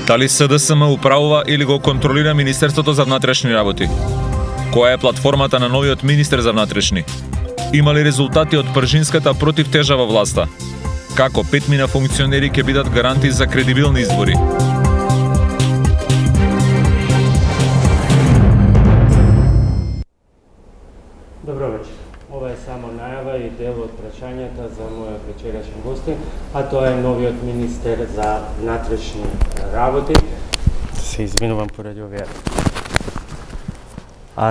Дали СДСМ управува или го контролира Министерството за внатрешни работи? Која е платформата на новиот министер за внатрешни? Има ли резултати од пржинската противтежа во власта? Како 5 мина функционери ќе бидат гаранти за кредибилни избори? Добро вечер. Ова е само најава и дел од прашањата за мојот вечерашен гостин, а тоа е новиот министер за внатрешни работи. Се извинувам поради овие.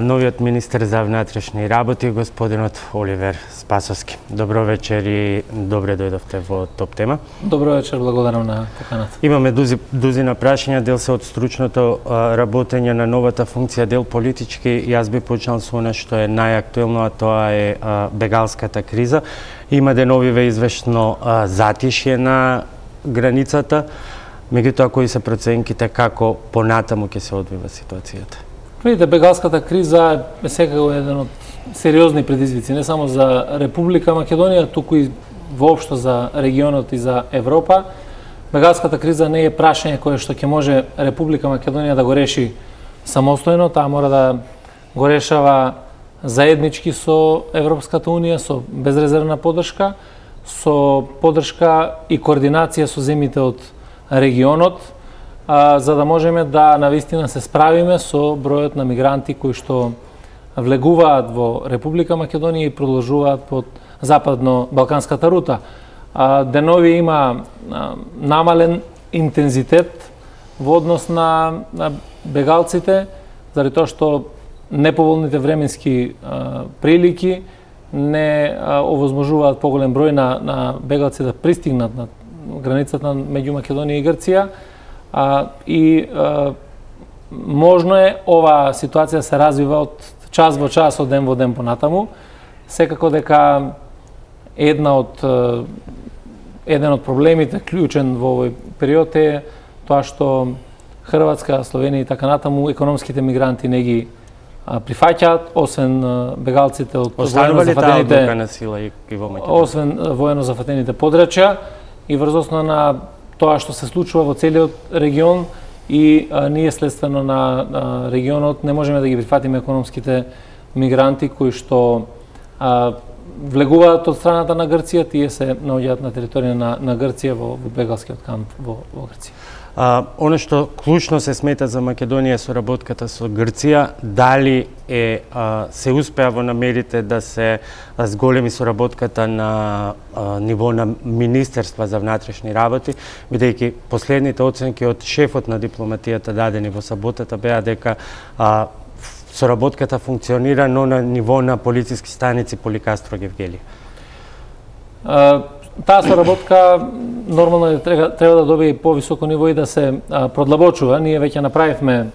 Новиот министер за внатрешни работи, господинот Оливер Спасовски. Добро вечер и добре дојдовте во Топ тема. Добро вечер, благодарам на поканата. Имаме дузина прашања, дел се од стручното работење на новата функција, дел политички. Јас би почнал со она што е најактуелно, а тоа е бегалската криза. Има деновиве извештно затишје на границата. Меѓутоа, кои се проценките како понатаму ќе се одвива ситуацијата? Видите, бегалската криза е секако еден од сериозни предизвици, не само за Република Македонија, туку и воопшто за регионот и за Европа. Бегалската криза не е прашање кое што ќе може Република Македонија да го реши самостојно, таа мора да го решава заеднички со Европската Унија, со безрезервна поддршка, со поддршка и координација со земјите од регионот, за да можеме да навистина се справиме со бројот на мигранти кои што влегуваат во Република Македонија и продолжуваат под западно-балканската рута. Денови има намален интензитет во однос на бегалците, заради тоа што неповолните временски прилики не овозможуваат поголем број на бегалци да пристигнат на границата меѓу Македонија и Грција. Можно е ова ситуација се развива од час во час, од ден во ден понатаму. Секако дека еден од проблемите клучен во овој период е тоа што Хрватска, Словенија и така натаму економските мигранти не ги прифаќаат, освен бегалците од воено зафатените подрачја и врз основа на тоа што се случува во целиот регион и ние следствено на регионот не можеме да ги прифатиме економските мигранти кои што влегуваат од страната на Грција, тие се наоѓаат на територија на Грција во бегалскиот камп во Грција. Оно што клучно се смета за Македонија е соработката со Грција, дали се успеа во намерите да се зголеми соработката на ниво на Министерства за внатрешни работи, бидејќи последните оценки од шефот на дипломатијата дадени во саботата беа дека соработката функционира, но на ниво на полициски станици Поликастро Гевгелија. Таа соработка нормално треба да добие повисоко ниво и да се продлабочува. Ние веќе направивме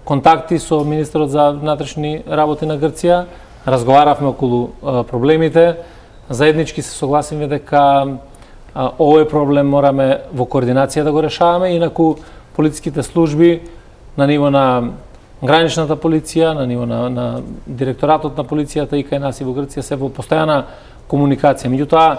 контакти со министерот за внатрешни работи на Грција, разговаравме околу проблемите, заеднички се согласиме дека овој проблем мораме во координација да го решаваме, инаку полициските служби на ниво на граничната полиција, на ниво на директоратот на полицијата и кај нас и во Грција се во постојана комуникација. Меѓутоа,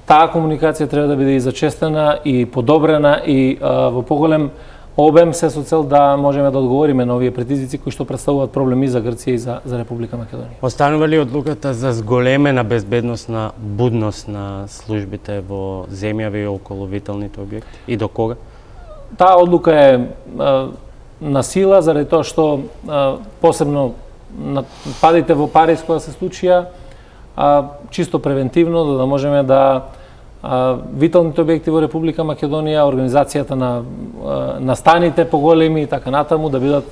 таа комуникација треба да биде и зачестена и подобрена и во поголем обем се со цел да можеме да одговориме на овие предизвици кои што представуваат проблеми за Грција и за Република Македонија. Останува ли одлуката за зголемена безбедносна будност на службите во земјава и околу виталните објекти и до кога? Таа одлука е на сила заради тоа што посебно падите во Париз кога се случија, чисто превентивно, да можеме да виталните објекти во Република Македонија, организацијата на станите поголеми и така натаму да бидат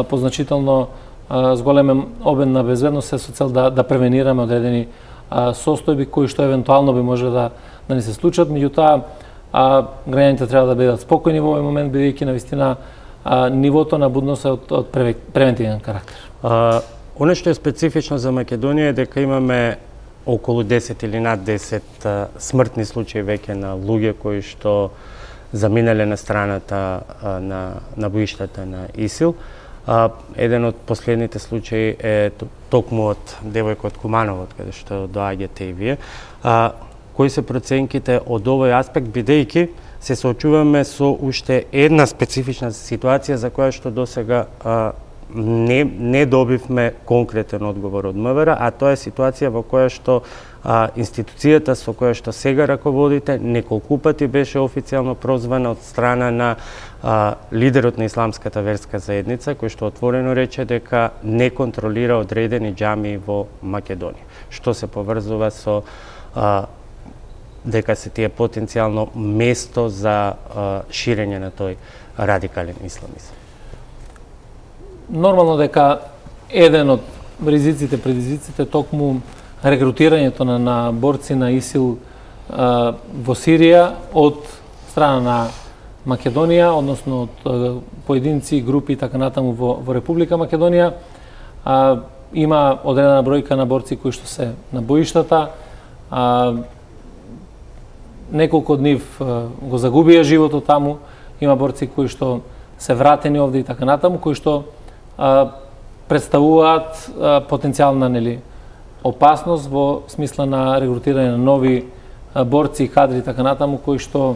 позначително зголемен обем на безбедност со цел да превенираме одредени состојби кои што евентуално би може да ни се случат. Меѓутоа, граѓаните треба да бидат спокојни во овој момент, бидејќи навистина нивото на будност е од превентивен карактер. Оно што е специфично за Македонија е дека имаме околу 10 или над 10 смртни случаи веќе на луѓе кои што заминале на страната на боиштата на ИСИЛ. Еден од последните случаи е токму од девојка од Куманово, каде што доаѓате и вие. Кои се проценките од овој аспект, бидејќи се соочуваме со уште една специфична ситуација за која што досега не добивме конкретен одговор од МВР, а тоа е ситуација во која што институцијата со која што сега раководите неколку пати беше официјално прозвана од страна на лидерот на исламската верска заедница, кој што отворено рече дека не контролира одредени џамии во Македонија, што се поврзува со дека се тие потенцијално место за ширење на тој радикален исламизам. Нормално дека еден од ризиците, предизвиците токму рекрутирањето на борци на ИСИЛ во Сирија од страна на Македонија, односно од поединци, групи и така натаму во Република Македонија. Има одредена бројка на борци кои што се на боиштата. Неколку од нив го загубија животот таму. Има борци кои што се вратени овде и така натаму, кои што представуваат потенцијална опасност во смисла на регрутирање на нови борци и кадри и така натаму, кои што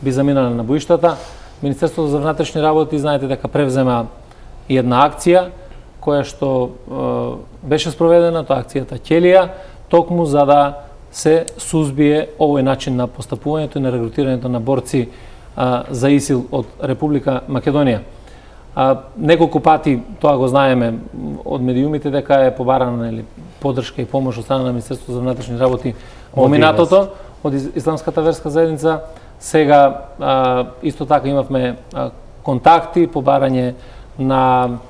би заминале на боиштата. Министерството за внатрешни работи, знаете дека превзема една акција, која што беше спроведена, тоа акцијата Ќелија, токму за да се сузбие овој начин на постапувањето и на регрутирањето на борци за ИСИЛ од Република Македонија. Неколку пати тоа го знаеме од медиумите дека е побарана поддршка и помош од страна на Министерството за внатрешни работи во минатото од исламската верска заедница. Сега исто така имавме контакти, побарање на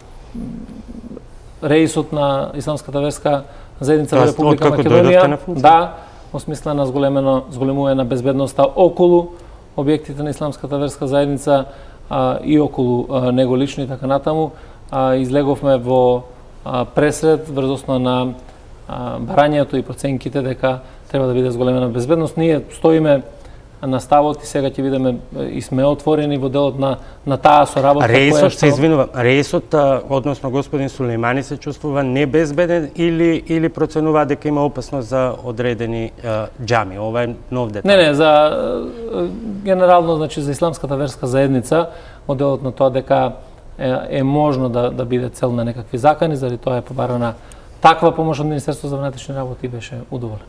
реисот на исламската верска заедница во Република Македонија. Да, во смисла на зголемување на безбедноста околу објектите на исламската верска заедница и околу него лично и така натаму. Излеговме во пресред врз основа на барањето и проценките дека треба да биде зголемена безбедност. Ние стоиме на ставот и сега ќе видиме и сме отворени во делот на таа соработка. Реисот, односно господин Сулеймани, се чувствува небезбеден или проценува дека има опасност за одредени џами? Ова е нов детал. Не, за генерално, значи за исламската верска заедница, во делот на тоа дека е можно да биде цел на некакви закани, заради тоа е побарана таква помош од Министерството за внатрешни работи, беше удоволен.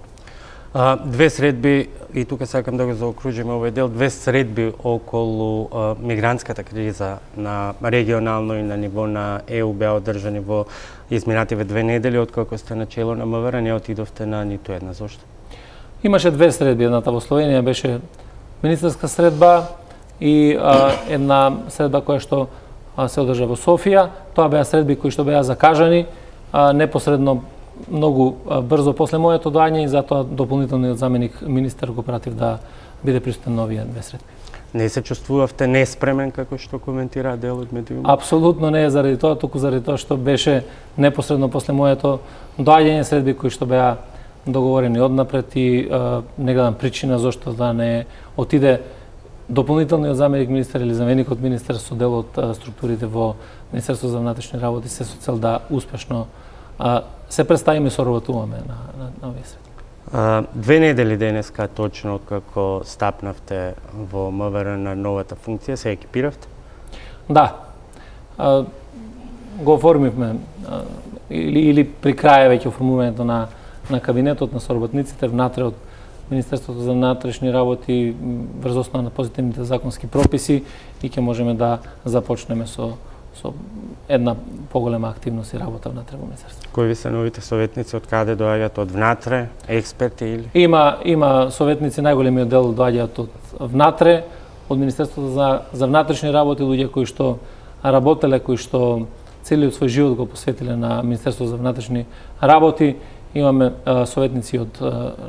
Две средби, и тука сакам да го заокружиме овој дел, две средби околу мигрантската криза на регионално и на ниво на ЕУ беа одржани во изминативе 2 недели, откако сте на чело на МВР, не отидовте на ниту една. Зошто? Имаше две средби, едната во Словенија беше министерска средба и една средба која што се одржа во Софија. Тоа беа средби кои што беа закажани непосредно многу брзо после моето доаѓање и затоа дополнителниот заменик министер го пратив да биде присутен на овие две средби. Не се чувствувавте неспремен како што коментира дел од медиумите? Апсолутно не е заради тоа, туку заради тоа што беше непосредно после моето доаѓање средби кои што беа договорени однапред и не гледам причина зошто да не отиде дополнителниот заменик министер или заменикот министер со дел од структурите во Министерството за внатрешни работи се со цел да успешно се представиме и соработуваме на овие средби. 2 недели денеска точно откако стапнавте во МВР на новата функција, се екипиравте? Да. Го оформивме или при крај веќе оформувањето на кабинетот на соработниците внатре од Министерството за внатрешни работи врз основа на позитивните законски прописи и ќе можеме да започнеме со една поголема активност и работа внатре во Министерството. Кои ви се новите советници, од каде доаѓаат, од внатре, експерти или? Има советници, најголемиот дел доаѓаат од внатре, од Министерството за внатрешни работи, луѓе кои што работеле, кои што целиот свој живот го посветиле на Министерството за внатрешни работи. Имаме советници од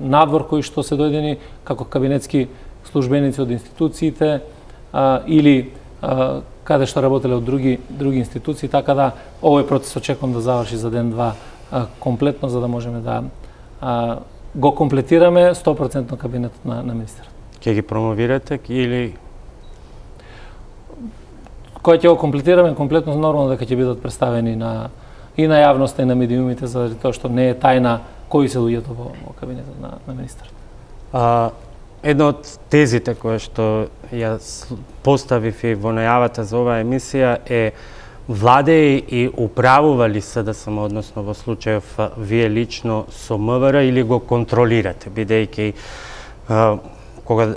надвор кои што се дојдени како кабинетски службеници од институциите или каде што работеле од други институции, така да овој процес очекувам да заврши за ден-два комплетно, за да можеме да го комплетираме 100% кабинетот на министерот. Ќе ги промовирате или кој ќе го комплетираме комплетно, нормално дека ќе бидат представени и на јавноста и на медиумите, заради тоа што не е тајна кои се луѓето во кабинетот на министерот. Една од тезите која што ја поставив и во најавата за оваа емисија е владеи и управували СДСМ, односно во случајов вие лично со МВР, или го контролирате, бидејќи кога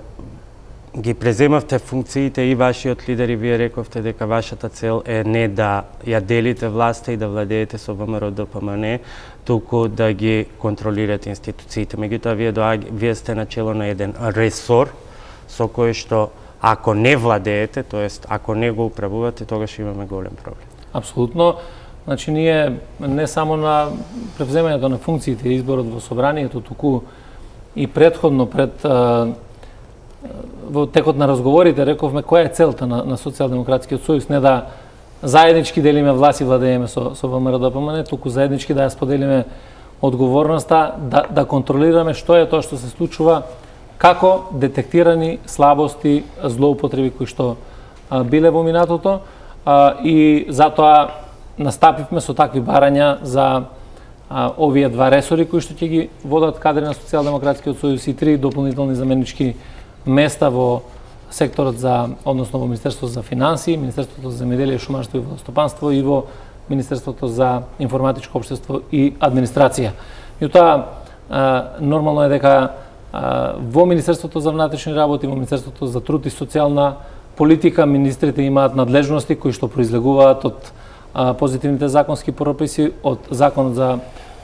ги преземавте функциите и вашиот лидер и вие рековте дека вашата цел е не да ја делите власта и да владеете со ВМРО ДПМН, туку да ги контролирате институциите. Меѓутоа, вие сте начело на еден ресор со кој што ако не владеете, тоест ако не го управувате, тогаш имаме голем проблем. Апсолутно. Значи, ние не само на превземањето на функциите и изборот во собранието, туку и предходно во текот на разговорите рековме која е целта на Социјалдемократскиот сојуз, не да заеднички делиме власт и владееме со ВМРО ДПМН, туку заеднички да ја споделиме одговорноста, да контролираме што е тоа што се случува, како детектирани слабости, злоупотреби кои што биле во минатото, и затоа настапивме со такви барања за овие два ресори кои што ќе ги водат кадри на Социјалдемократскиот сојуз и 3 дополнителни заменички места во секторот односно во Министерството за финансии, Министерството за земјоделие, шумарство и водостопанство и во Министерството за информатичко општество и администрација. Меѓутоа, нормално е дека во Министерството за внатрешни работи, во Министерството за труд и социјална политика, министрите имаат надлежности кои што произлегуваат од позитивните законски прописи, од Законот за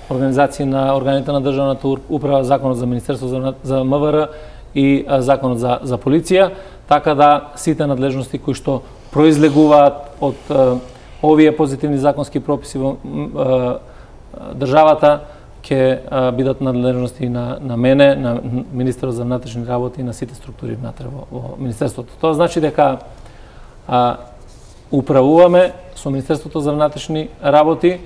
организација на органите на државната управа, Законот за Министерство за МВР и Законот за полиција, така да сите надлежности кои што произлегуваат од овие позитивни законски прописи во државата ќе бидат надлежности на мене, на министерот за внатрешни работи и на сите структури внатре во министерството. Тоа значи дека управуваме со Министерството за внатрешни работи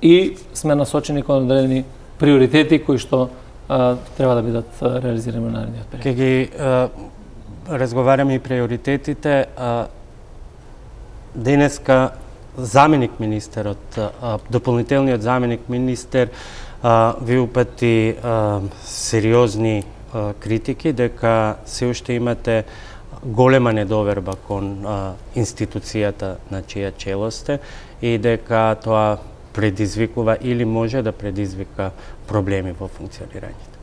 и сме насочени кон одредени приоритети кои што треба да бидат реализирани во наредниот период. Ке ги разговараме и приоритетите. Денеска заменик министерот, дополнителниот заменик министер ви упати сериозни критики дека се уште имате голема недоверба кон институцијата на чија чело сте и дека тоа предизвикува или може да предизвика проблеми во функционирањето.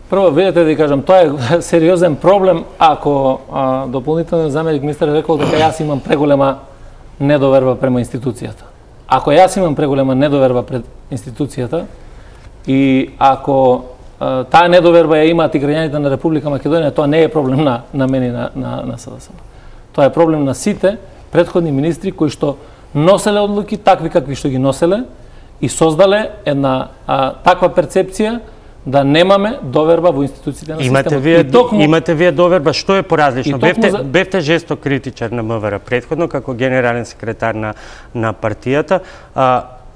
Прво, видете да кажам, тоа е сериозен проблем ако дополнителниот заменик министер рекол дека јас имам преголема недоверба према институцијата. Ако јас имам преголема недоверба пред институцијата и ако таа недоверба ја имаат и граѓаните на Република Македонија, тоа не е проблем на мене на СДСМ. Тоа е проблем на сите претходни министри кои што носеле одлуки такви какви што ги носеле и создале една таква перцепција да немаме доверба во институциите на системот. Имате вие доверба, што е поразлично? Бевте жесток критичар на МВР претходно како генерален секретар на партијата.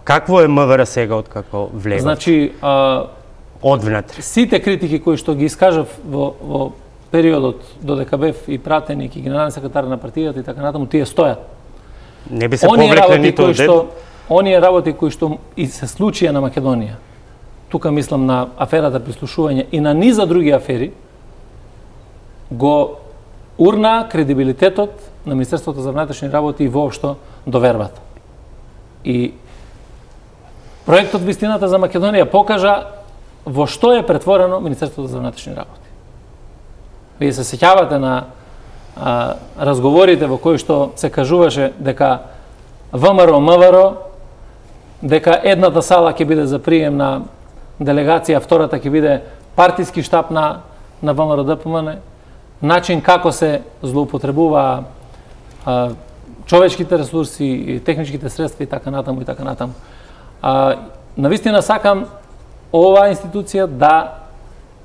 Какво е МВР сега откако влегов? Значи, одвнатре. Сите критики кои што ги искажав во периодот додека бев и пратеник и генерален секретар на партијата и така натаму, тие стојат. Не би се повлекле ниту од оние работи кои што и се случија на Македонија, тука мислам на аферата прислушување и на низа други афери, го урна кредибилитетот на Министерството за внатрешни работи и воопшто довербата. И проектот Вистината за Македонија покажа во што е претворено Министерството за внатрешни работи. Вие се сеќавате на разговорите во кои што се кажуваше дека ВМРО, МВР, дека едната сала ќе биде за прием на делегација, втората ќе биде партиски штаб на ВМРО ДПМН, начин како се злоупотребува човечките ресурси и техничките средства и така натаму и така натаму. Навистина сакам оваа институција да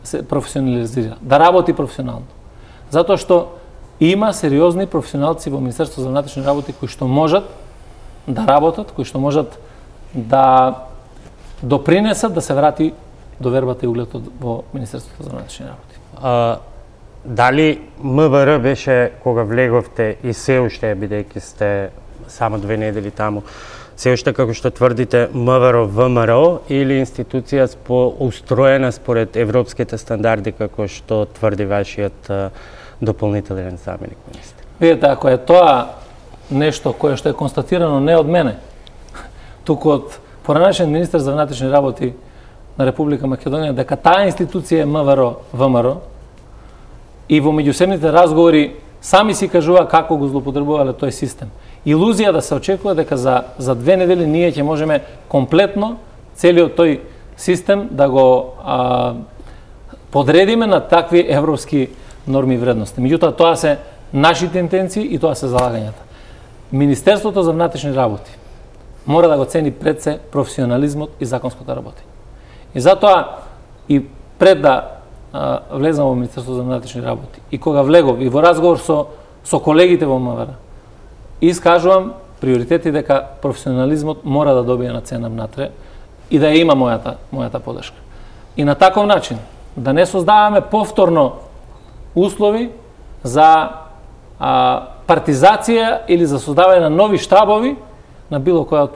се професионализира, да работи професионално. Затоа што има сериозни професионалци во Министерството за внатрешни работи кои што можат да работат, кои што можат да допринесат да се врати довербата и угледот во Министерството за внатрешни работи. Дали МВР беше кога влеговте и се уште, бидејќи сте само 2 недели таму, се уште како што тврдите МВР ВМРО или институција устроена според европските стандарди како што тврди вашиот дополнителен заменик министер? Видете, ако е тоа нешто кое што е констатирано не од мене, туку од поранешен министер за внатрешни работи на Република Македонија, дека таа институција е МВР ВМРО и во меѓусебните разговори сами си кажува како го злоупотребувале тој систем. Илузија да се очекува дека за 2 недели ние ќе можеме комплетно целиот тој систем да го подредиме на такви европски норми и вредности. Меѓутоа, тоа се нашите интенции и тоа се залагањата. Министерството за внатрешни работи мора да го цени пред се професионализмот и законското работење. И затоа и пред да влезам во Министерството за внатрешни работи и кога влегов и во разговор со колегите во МВР, искажувам приоритети дека професионализмот мора да добие на цена внатре и да има мојата подршка. И на таков начин да не создаваме повторно услови за партизација или за создавање на нови штабови на било која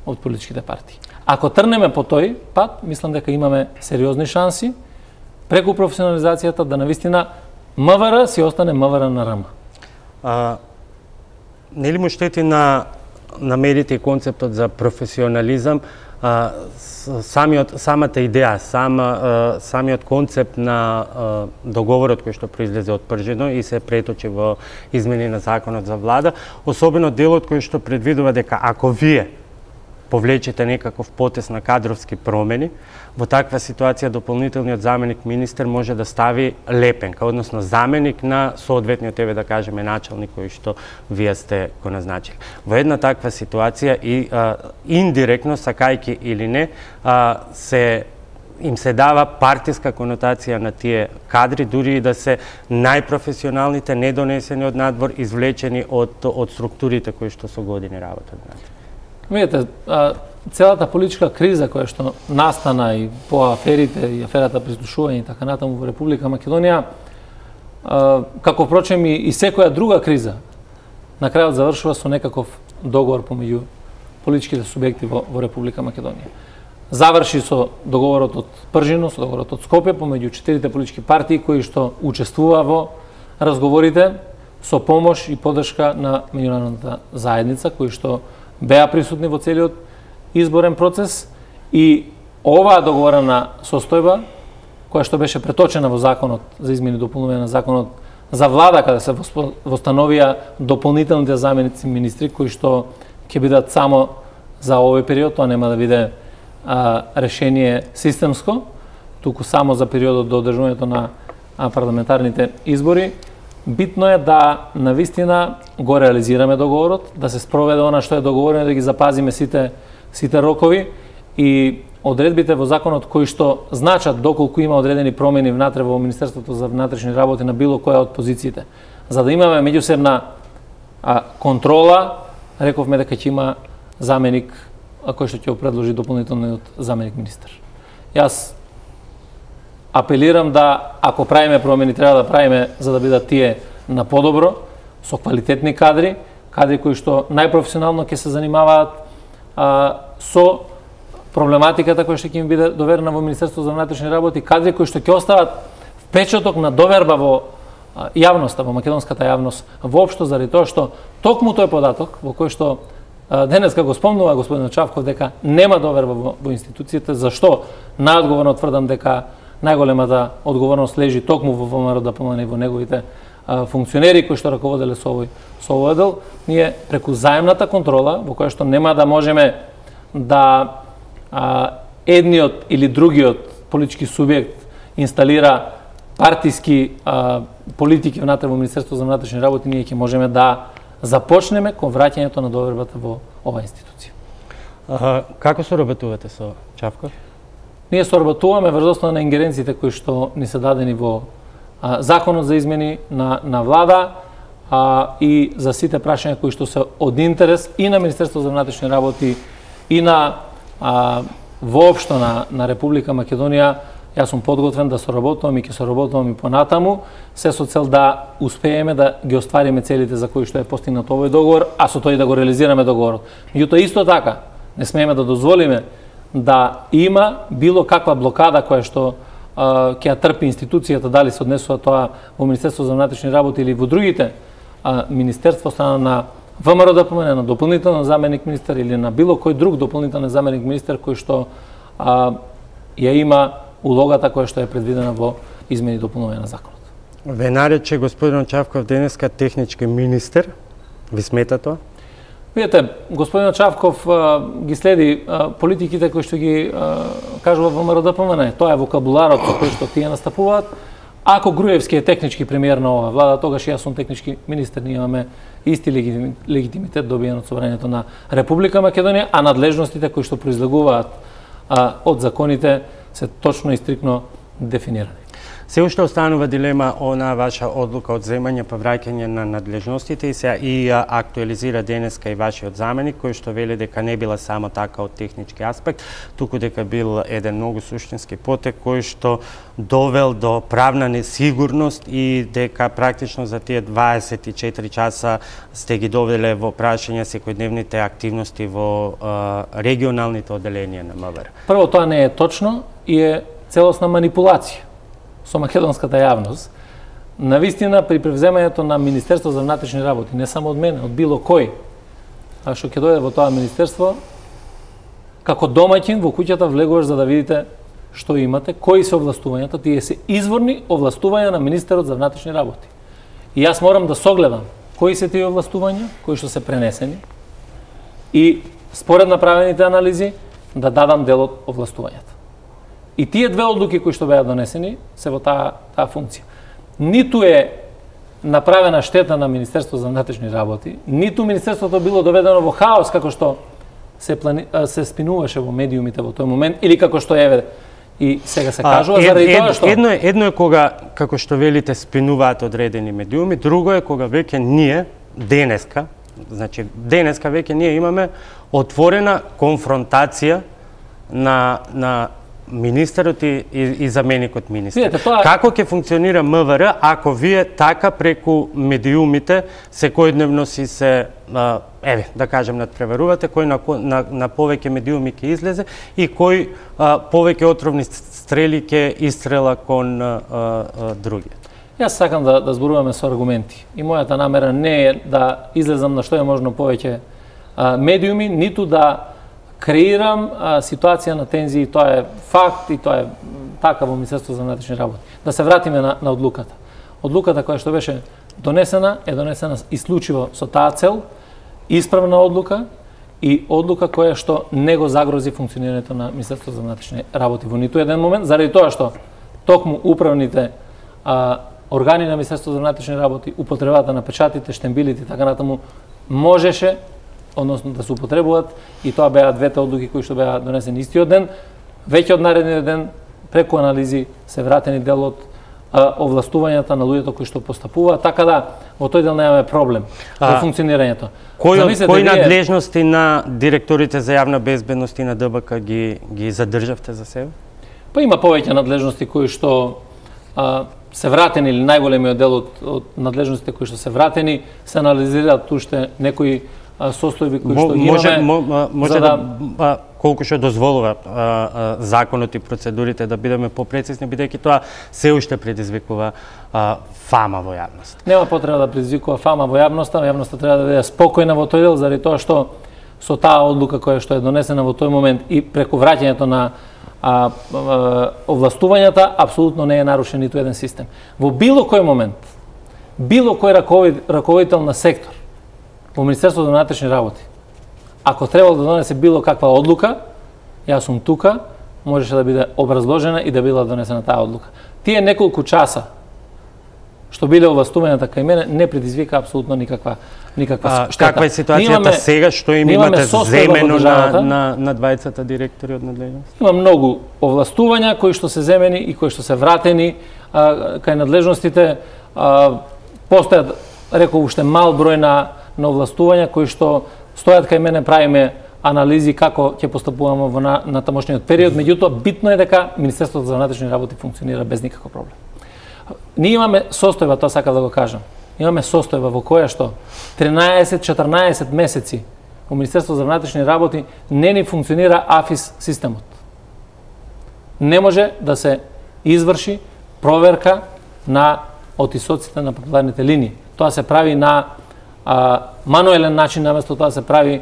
од политичките партии. Ако трнеме по тој пат, мислам дека имаме сериозни шанси преку професионализацијата да навистина МВР си остане МВР на РМ. Нели му штети на медиите и концептот за професионализам самата идеја, самиот концепт на договорот кој што произлезе од Пржино и се преточи во измени на законот за влада, особено делот кој што предвидува дека ако вие повлечете некаков потез на кадровски промени, во таква ситуација дополнителниот заменик министер може да стави лепенка, односно заменик на соодветниот, да кажеме, началник кој што вие сте го назначили. Во една таква ситуација и индиректно, сакајки или не, им се дава партиска конотација на тие кадри, дури и да се најпрофесионалните, недонесени од надвор, извлечени од структурите кои што со години работат. Видете, целата политичка криза која што настана и по аферите и аферата прислушување и така натаму во Република Македонија, како впрочем и секоја друга криза, на крајот завршува со некаков договор помеѓу политичките субјекти во Република Македонија. Заврши со договорот од Пржино, со договорот од Скопје помеѓу 4 политички партии кои што учествува во разговорите со помош и поддршка на меѓународната заедница, кои што беа присутни во целиот изборен процес, и оваа договорена состојба, која што беше преточена во законот за измени и дополнување на законот за влада, каде се востановија дополнителните заменици министри, кои што ќе бидат само за овој период, тоа нема да биде решение системско, туку само за периодот до одржувањето на парламентарните избори. Битно е да навистина го реализираме договорот, да се спроведе она што е договорено, да ги запазиме сите рокови и одредбите во законот кои што значат доколку има одредени промени внатре во Министерството за внатрешни работи на било која од позициите. За да имаме меѓусебна контрола, рековме дека ќе има заменик кој што ќе го предложи дополнителниот заменик министер. Јас апелирам да, ако правиме промени, треба да правиме за да бидат тие на подобро, со квалитетни кадри кои што најпрофесионално ќе се занимаваат со проблематиката која што ќе им биде доверена во Министерството за внатрешни работи, кадри кои што ќе остават впечаток на доверба во јавноста, во македонската јавност, воопшто заради тоа што токму тој податок во кој што денеска го спомнува господин Чавков дека нема доверба во институциите, зашто најодговорно тврдам дека најголемата одговорност лежи токму во ВМРО ДПМН и во неговите функционери кои што раководеле со овој дел. Ние преку заемната контрола, во која што нема да можеме да едниот или другиот политички субјект инсталира партиски политики внатре во Министерството за внатрешни работи, ние ќе можеме да започнеме кон враќањето на довербата во оваа институција. Како соработувате со Чавков? Ние соработуваме врз основа на ингеренциите кои што ни се дадени во законот за измени на влада и за сите прашања кои што се од интерес и на Министерството за внатрешни работи и на воопшто на Република Македонија. Јас сум подготвен да соработувам и ќе соработувам и понатаму, се со цел да успееме да ги оствариме целите за кои што е постигнат овој договор, а со тој да го реализираме договорот. Меѓутоа исто така не смееме да дозволиме да има било каква блокада која што ќе ја трпи институцијата, дали се однесува тоа во Министерство за внатрешни работи или во другите министерства, страна на ВМРО-ДПМНЕ, на дополнителен заменик министер или на било кој друг дополнителен заменик министер кој што ја има улогата која што е предвидена во измени и дополнување на законот. Ве нарече господин Чавков денеска технички министер. Ви смета тоа? Видете, господин Чавков ги следи политиките кои што ги кажува ВМРО-ДПМНЕ. Тоа е вокабуларот со кој што тие настапуваат. Ако Груевски е технички премиер на оваа влада, тогаш јас сум технички министер, ние имаме исти легитимитет добиен од собранието на Република Македонија, а надлежностите кои што произлегуваат од законите се точно и стрикно дефинирани. Се уште останува дилема онаа ваша одлука од земање па враќање на надлежностите и актуализира денеска и вашиот заменик, кој што вели дека не била само така од технички аспект, туку дека бил еден многу суштински потек кој што довел до правна несигурност и дека практично за тие 24 часа сте ги довеле во прашање секојдневните активности во регионалните одделенија на МВР. Прво, тоа не е точно и е целосна манипулација со македонската јавност. Навистина, при превземањето на Министерство за внатрешни работи, не само од мене, од било кој, а што ќе дојде во тоа министерство, како домаќин во куќата влегуваш за да видите што имате, кои се овластувањата, тие се изворни овластувања на министерот за внатрешни работи. И јас морам да согледам кои се тие овластувања, кои што се пренесени и според направените анализи да дадам дел од овластувањата. И тие две одлуки кои што беа донесени се во таа функција. Ниту е направена штета на Министерство за внатрешни работи, ниту Министерството било доведено во хаос како што се спинуваше во медиумите во тој момент, или како што еве и сега се кажува, заради тоа што... Едно е кога, како што велите, спинуваат одредени медиуми, друго е кога веќе ние, денеска веќе ние имаме отворена конфронтација на министерот и заменикот министер. Видете, тоа... Како ќе функционира МВР ако вие така преку медиумите секојдневно си се, да кажем, надпреварувате, кој на повеќе медиуми ќе излезе и кој повеќе отровни стрели ќе истрела кон другиот? Јас сакам да зборуваме со аргументи. И мојата намера не е да излезам на што е можно повеќе медиуми, ниту да креирам ситуација на тензии, тоа е факт и тоа е така во Министерство за внатрешни работи. Да се вратиме на одлуката. Одлуката која што беше донесена е донесена исклучиво со таа цел, исправна одлука и одлука која што не го загрози функционирањето на Министерство за внатрешни работи во ниту еден момент, заради тоа што токму управните органи на Министерство за внатрешни работи, употребата на печатите, штембилите и така натаму можеше, односно да се употребуваат, и тоа беа двете одлуки кои што беа донесени истиот ден. Веќе од наредниот ден преку анализи се вратени дел од овластувањата на луѓето кои што постапуваат, така да во тој дел немаме проблем во функционирањето. Кои надлежности на директорите за јавна безбедност и на ДБК ги задржавте за себе? Па има повеќе надлежности кои што се вратени, или најголемиот дел од надлежностите кои што се вратени, се анализираат уште некои состојби кои што ги имаме. Може да колку што дозволува законот и процедурите да бидеме попрецизни, бидејќи тоа се уште предизвикува фама во јавност. Нема потреба да предизвикува фама во јавноста, јавноста треба да биде спокојна во тој дел, заради тоа што со таа одлука која што е донесена во тој момент и преку враќањето на овластувањата, апсолутно не е нарушен ниту еден систем. Во било кој момент, било кој раководител на сектор во Министерството за внатрешни работи, ако требало да донесе било каква одлука, јас сум тука, можеше да биде образложена и да била донесена таа одлука. Тие неколку часа што биле овластувањата кај мене не предизвика апсолутно никаква штета. Каква е ситуацијата сега што им имате земено на двајцата директори од надлежност? Има многу овластувања кои што се земени и кои што се вратени кај надлежностите. Постојат, реков, уште мал број на овластувања кои што стојат кај мене, правиме анализи како ќе постапуваме во натамошниот период, меѓутоа битно е дека Министерството за внатрешни работи функционира без никаков проблем. Ние имаме состојба, тоа сакам да го кажам. Имаме состојба во која што 13-14 месеци во Министерството за внатрешни работи не ни функционира АФИС системот. Не може да се изврши проверка на отисоците на папиларните линии. Тоа се прави на мануелен начин, наместо тоа се прави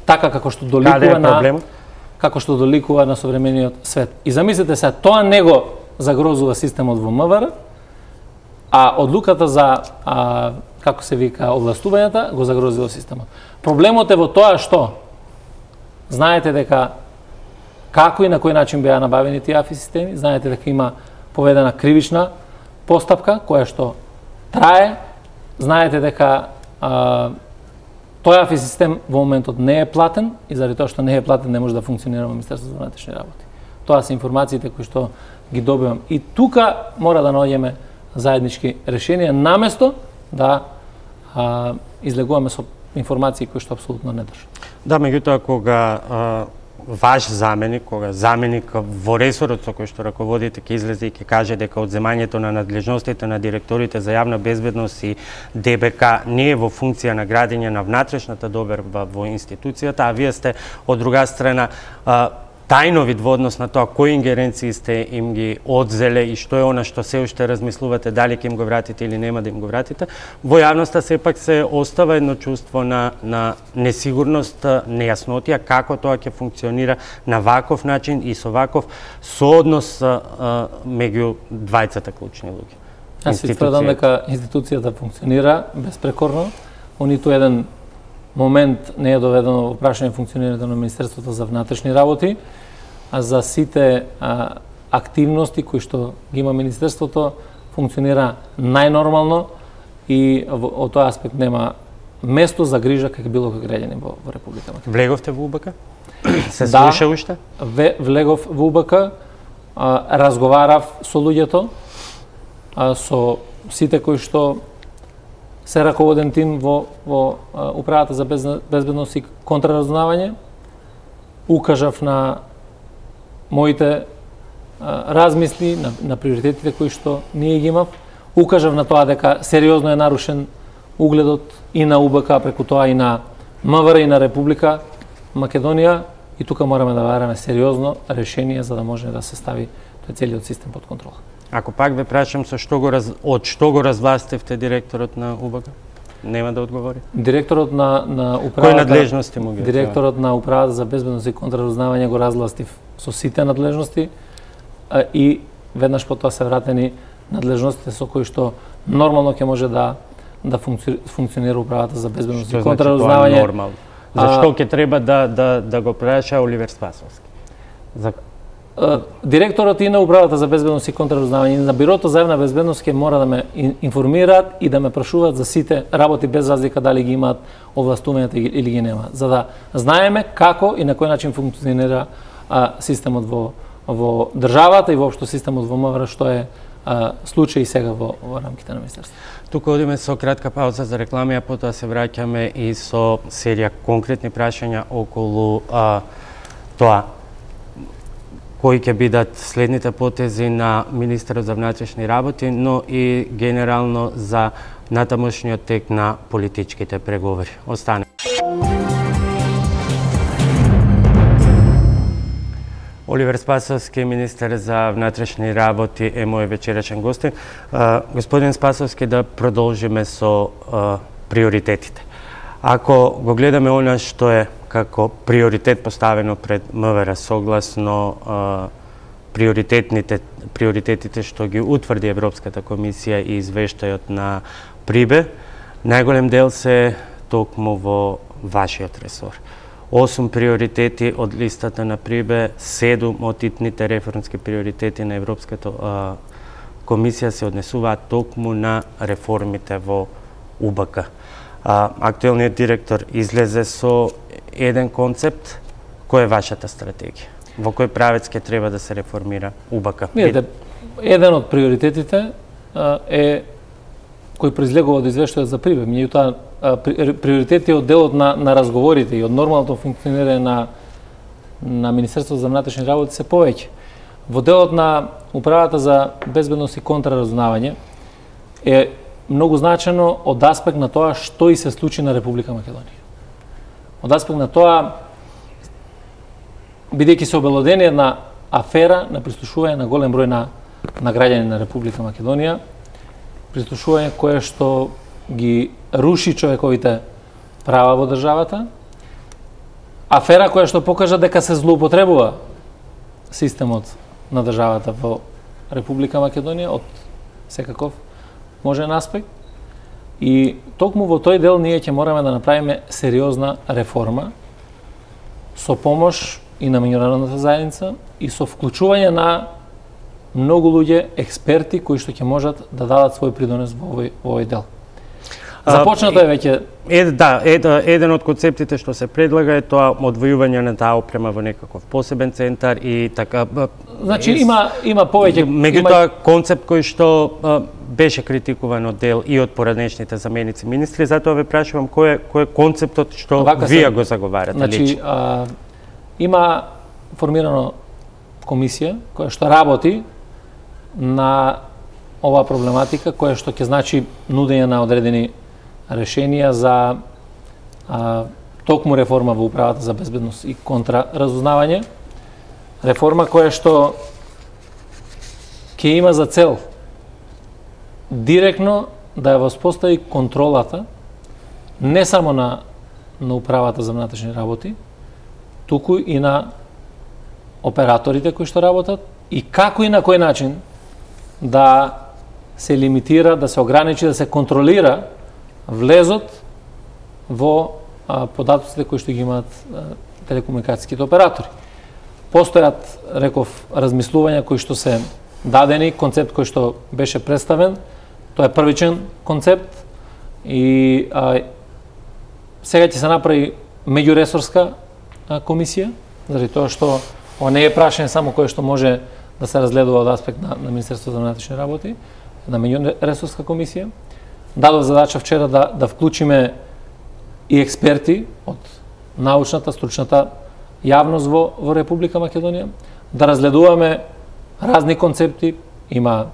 така како што доликува на современиот свет. И замислете се, тоа не го загрозува системот во МВР, а одлуката за како се вика овластувањата го загрозува системот. Проблемот е во тоа што знаете дека како и на кој начин беа набавени тие АФИ системи, знаете дека има поведена кривична постапка која што трае, знаете дека тој АФИ систем во моментот не е платен и заради тоа што не е платен не може да функционира во Министерството за внатрешни работи. Тоа се информациите кои што ги добивам. И тука мора да наоѓеме заеднички решенија наместо да излегуваме со информации кои што апсолутно не држат. Да, меѓутоа кога ваш заменик, кога заменик во ресорот со кој што раководите ќе излезе и ќе каже дека одземањето на надлежностите на директорите за јавна безбедност и ДБК не е во функција на градење на внатрешната доверба во институцијата, а вие сте од друга страна тајновид во однос на тоа кои ингеренции сте им ги одзеле и што е она што се уште размислувате дали ќе им го вратите или нема да им го вратите, во јавноста сепак се остава едно чувство на несигурност, нејаснотија како тоа ќе функционира на ваков начин и со ваков сооднос меѓу двајцата клучни луѓе. Јас си тврдам дека институцијата функционира безпрекорно, во ниту еден момент не е доведено во прашање функционирањето на Министерството за внатрешни работи, а за сите активности кои што ги има Министерството функционира најнормално и од тој аспект нема место за грижа како било кој граѓанин во Република Македонија. Влеговте во УБК? Се слуша уште? Влегов во УБК, разговарав со луѓето, со сите кои што се раководен тим во Управата за безбедност и контраразузнавање, укажав на моите размисли, на приоритетите кои што ние ги имав, укажав на тоа дека сериозно е нарушен угледот и на УБК, преку тоа и на МВР и на Република Македонија, и тука мораме да бараме сериозно решение за да може да се стави тој целиот систем под контрола. Ако пак ве прашам од што го развластивте директорот на УБК? Нема да одговори. Директорот на управата. Кои надлежности му ги? Директорот на Управата за безбедност и контраразузнавање го развластив со сите надлежности и веднаш потоа се вратени надлежностите со кои што нормално ќе може да функционира Управата за безбедност и контраразузнавање. Нормално. Зашто ќе треба да го праша Оливер Спасовски? Директорот и на Управата за безбедност и контраразузнавање и на Бирото за јавна безбедност ќе мора да ме информираат и да ме прашуваат за сите работи без разлика дали ги имаат овластувањата или ги немаат, за да знаеме како и на кој начин функционира системот во државата и воопшто системот во МВР, што е случај сега во рамките на Министерството. Тука одиме со кратка пауза за реклами, а потоа се враќаме и со серија конкретни прашања околу тоа кои ќе бидат следните потези на Министерот за внатрешни работи, но и генерално за натамошниот тек на политичките преговори. Остане. Оливер Спасовски, министер за внатрешни работи, е мој вечерачен гостин. Господин Спасовски, да продолжиме со приоритетите. Ако го гледаме она што е како приоритет поставено пред МВР согласно приоритетите што ги утврди Европската комисија и извештајот на Прибе, најголем дел се токму во вашиот ресор. 8 приоритети од листата на Прибе, 7 од итните реформски приоритети на Европската комисија се однесуваат токму на реформите во УБК. Актуелниот директор излезе со еден концепт. Кој е вашата стратегија? Во кој правец ќе треба да се реформира УБК? Еден од приоритетите е кој произлегува од извештајот за Прибе. Меѓутоа приоритети од делот на разговорите и од нормалното функционирање на Министерството за внатрешни работи се повеќе. Во делот на Управата за безбедност и контраразузнавање е многу значено од аспект на тоа што и се случи на Република Македонија. Од аспект на тоа, бидејќи се обелодени една афера на прислушување на голем број на граѓани на Република Македонија, прислушување кое што ги руши човековите права во државата, афера која што покажа дека се злоупотребува системот на државата во Република Македонија од секаков можен аспект. И токму во тој дел ние ќе мораме да направиме сериозна реформа со помош и на меѓународната заедница и со вклучување на многу луѓе, експерти кои што ќе можат да дадат свој придонес во овој дел. Започнато е веќе. Еден од концептите што се предлага е тоа одвојување на таа опрема во некаков посебен центар и така. Значи има повеќе. Меѓутоа концепт кој што беше критикуван од дел и од поранешните заменици министри, затоа ве прашувам кој е концептот што вие го заговарате. Значи има формирано комисија која што работи на оваа проблематика, која што ќе значи нудење на одредени решенија за токму реформа во Управата за безбедност и контраразузнавање. Реформа која што ќе има за цел директно да ја воспостави контролата не само на Управата за внатрешни работи, туку и на операторите кои што работат и како и на кој начин да се лимитира, да се ограничи, да се контролира влезот во податоците кои што ги имаат телекомуникацијските оператори. Постојат, реков, размислувања кои што се дадени, концепт кој што беше представен, тоа е првичен концепт и сега ќе се направи меѓуресорска комисија, заради тоа што ова не е прашање само кое што може да се разгледува од аспект на Министерството за внатрешни работи, на меѓуресорска комисија. Дадов задача вчера да вклучиме и експерти од научната, стручната јавност во Република Македонија, да разгледуваме разни концепти, има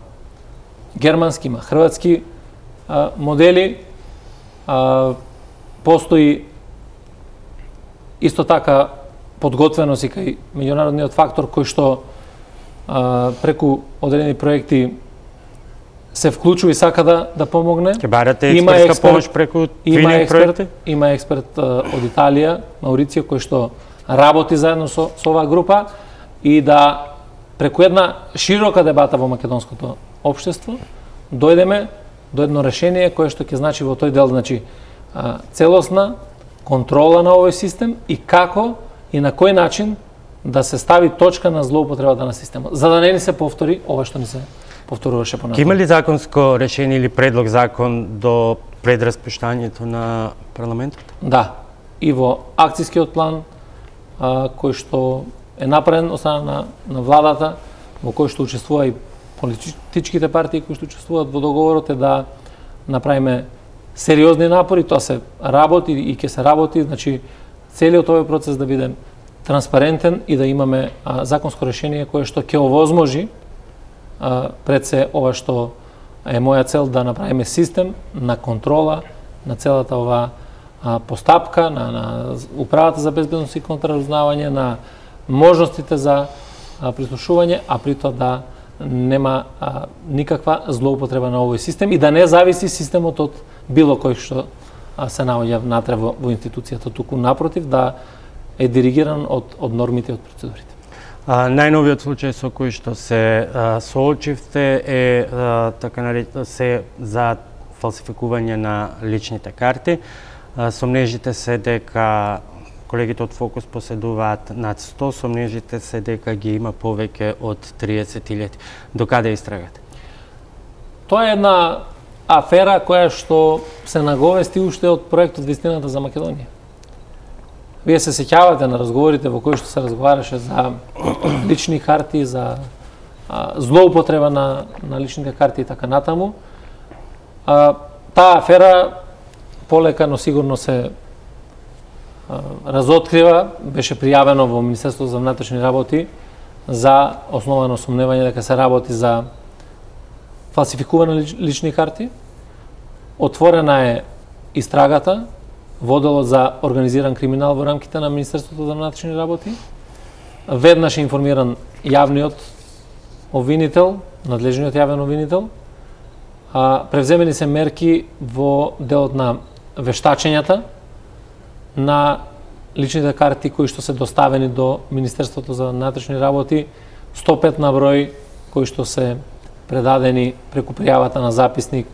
германски, има хрватски модели, постои исто така подготвеност и кај меѓународниот фактор кој што преку одредени проекти се вклучува и сака да помогне. Ќе барате експертска помош преку твининг проекти? Има експерт од Италија, Мауриција, кој што работи заедно со оваа група и да преку една широка дебата во македонското општество дојдеме до едно решение кое што ќе значи во тој дел, значи целосна контрола на овој систем и како и на кој начин да се стави точка на злоупотребата на системот, за да не ни се повтори ова што ни се повторуваше понатаму. Има ли законско решение или предлог закон до предраспуштањето на парламентот? Да, и во акцијскиот план кој што е направен од страна на владата, во кој што учествува и политичките партии кои што учествуваат во договорот, е да направиме сериозни напори, тоа се работи и ќе се работи, значи целиот овој процес да биде транспарентен и да имаме законско решение кое што ќе овозможи пред се ова што е моја цел, да направиме систем на контрола на целата ова постапка, на Управата за безбедност и контраразузнавање, на можностите за прислушување, а при тоа да нема никаква злоупотреба на овој систем и да не зависи системот од било кој што се наоѓа внатре во институцијата, туку напротив да е диригиран од нормите и од процедурите. Најновиот случај со кој што се соочивте е се за фалсификување на личните карти. Сомнежите се дека колегите од Фокус поседуваат над 100, сомнежите се дека ги има повеќе од 30.000. До каде истрагате? Тоа е една афера која што се наговести уште од проектот Вистината за Македонија. Вие се сеќавате на разговорите во кои што се разговараше за лични карти, за злоупотреба на личните карти и така натаму. Таа афера полека, но сигурно се разоткрива, беше пријавено во Министерството за внатрешни работи за основано сомневање дека се работи за фалсификувани лични карти. Отворена е истрагата во делот за организиран криминал во рамките на Министерството за внатрешни работи. Веднаш е информиран јавниот обвинител, надлежниот јавен обвинител. Превземени се мерки во делот на вештачењата на личните карти кои што се доставени до Министерството за внатрешни работи, 105 на број кои што се предадени преку пријавата на записник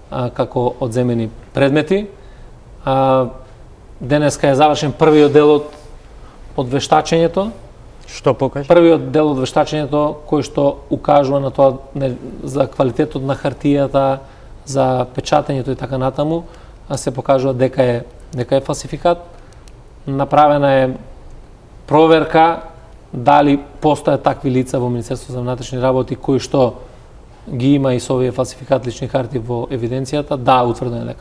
како одземени предмети. Денеска е завршен првиот дел од вештачењето. Што покажа? Првиот дел од вештачењето кој што укажува на тоа за квалитетот на хартијата, за печатењето и така натаму, се покажува дека е фалсификат. Направена е проверка дали постојат такви лица во Министерството за внатрешни работи кои што ги има и со овие фалсификат лични карти во евиденцијата. Да, утврдено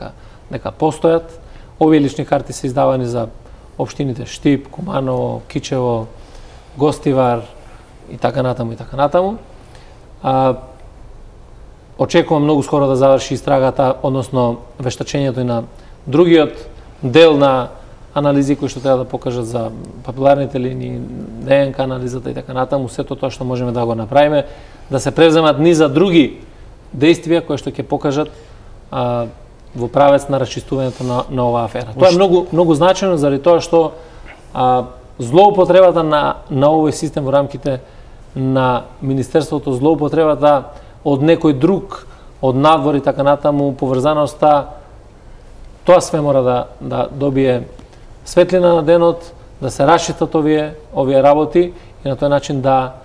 дека постојат. Овие лични карти се издавани за општините Штип, Куманово, Кичево, Гостивар и така натаму. Очекувам многу скоро да заврши истрагата, односно вештачењето и на другиот дел на анализи кои што треба да покажат за папиларните линии, ДНК анализата и така натаму, сето тоа што можеме да го направиме, да се превземат низа други действија кои што ќе покажат во правец на расчистувањето на оваа афера. Тоа е многу значајно заради тоа што злоупотребата на овој систем во рамките на Министерството, злоупотребата од некој друг, од надвор и така натаму, поврзаноста, тоа све мора да добие светлина на денот, да се расчистат овие работи и на тој начин да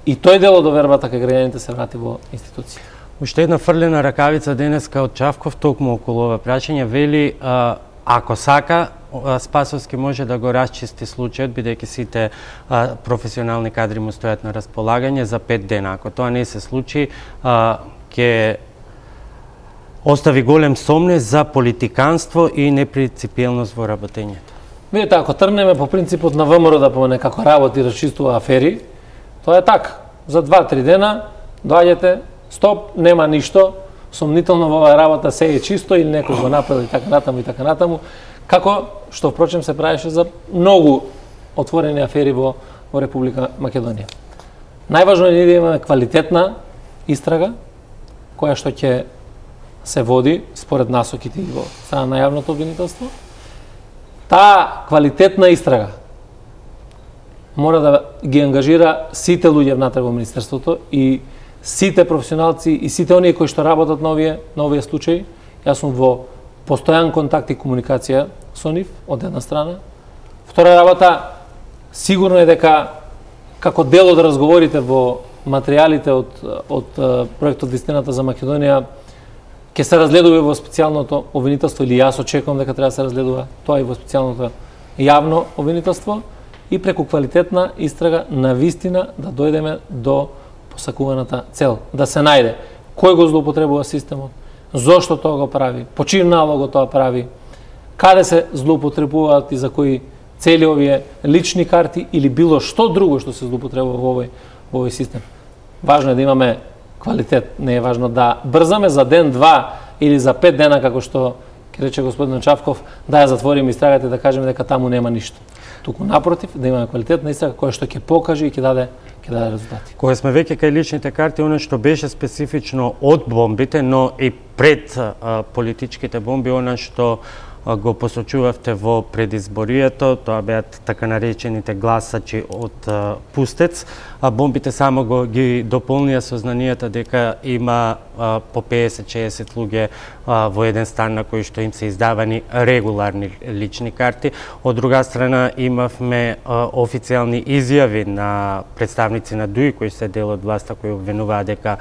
и тој дел од довербата кај граѓаните се врати во институција. Уште една фрлена ракавица денеска од Чавков токму околу ова прашање, вели ако сака Спасовски може да го расчисти случајот, бидејќи сите професионални кадри му стојат на располагање за 5 дена. Ако тоа не се случи, ќе остави голем сомнеж за политиканство и непринципиелност во работењето. Видите, ако тргнеме по принципот на ВМРО да помне како работи и расчистува афери, тоа е така. За 2-3 дена доаѓате, стоп, нема ништо, сомнително во оваа работа се е чисто или некој го направил и така натаму, како што впрочем се правеше за многу отворени афери во Република Македонија. Најважно е да имаме квалитетна истрага која што ќе се води според насоките во страна на јавното обвинителство. Таа квалитетна истрага мора да ги ангажира сите луѓе внатре во Министерството и сите професионалци и сите оние кои што работат на овие случаи. Јас сум во постојан контакт и комуникација со нив, од една страна. Втора работа, сигурно е дека како дел од разговорите во материјалите од проектот Вистината за Македонија ќе се разгледува во специјалното обвинителство, или јас очекувам дека треба да се разгледува тоа и во специјалното јавно обвинителство, и преку квалитетна истрага на вистина да дојдеме до посакуваната цел, да се најде кој го злоупотребува системот, зошто тоа го прави, по чиј налог го тоа прави, каде се злоупотребуваат и за кои цели овие лични карти или било што друго што се злоупотребува во овој систем. Важно е да имаме квалитет, не е важно да брзаме за ден, 2 или за 5 дена, како што ќе рече господин Чавков, да ја затвориме истрагата и да кажеме дека таму нема ништо. Туку напротив, да имаме квалитетна истрага која што ќе покаже и ќе даде резултати. Кога сме веќе кај личните карти, оно што беше специфично од бомбите, но и пред политичките бомби, оно што го посочувавте во предизборието, тоа беа така наречените гласачи од Пустец. Бомбите само ги дополнија сознанијата дека има по 50-60 луѓе во еден стан на кои што им се издавани регуларни лични карти. Од друга страна имавме официјални изјави на представници на ДУИ кои се дел од власта, кои обвинуваат дека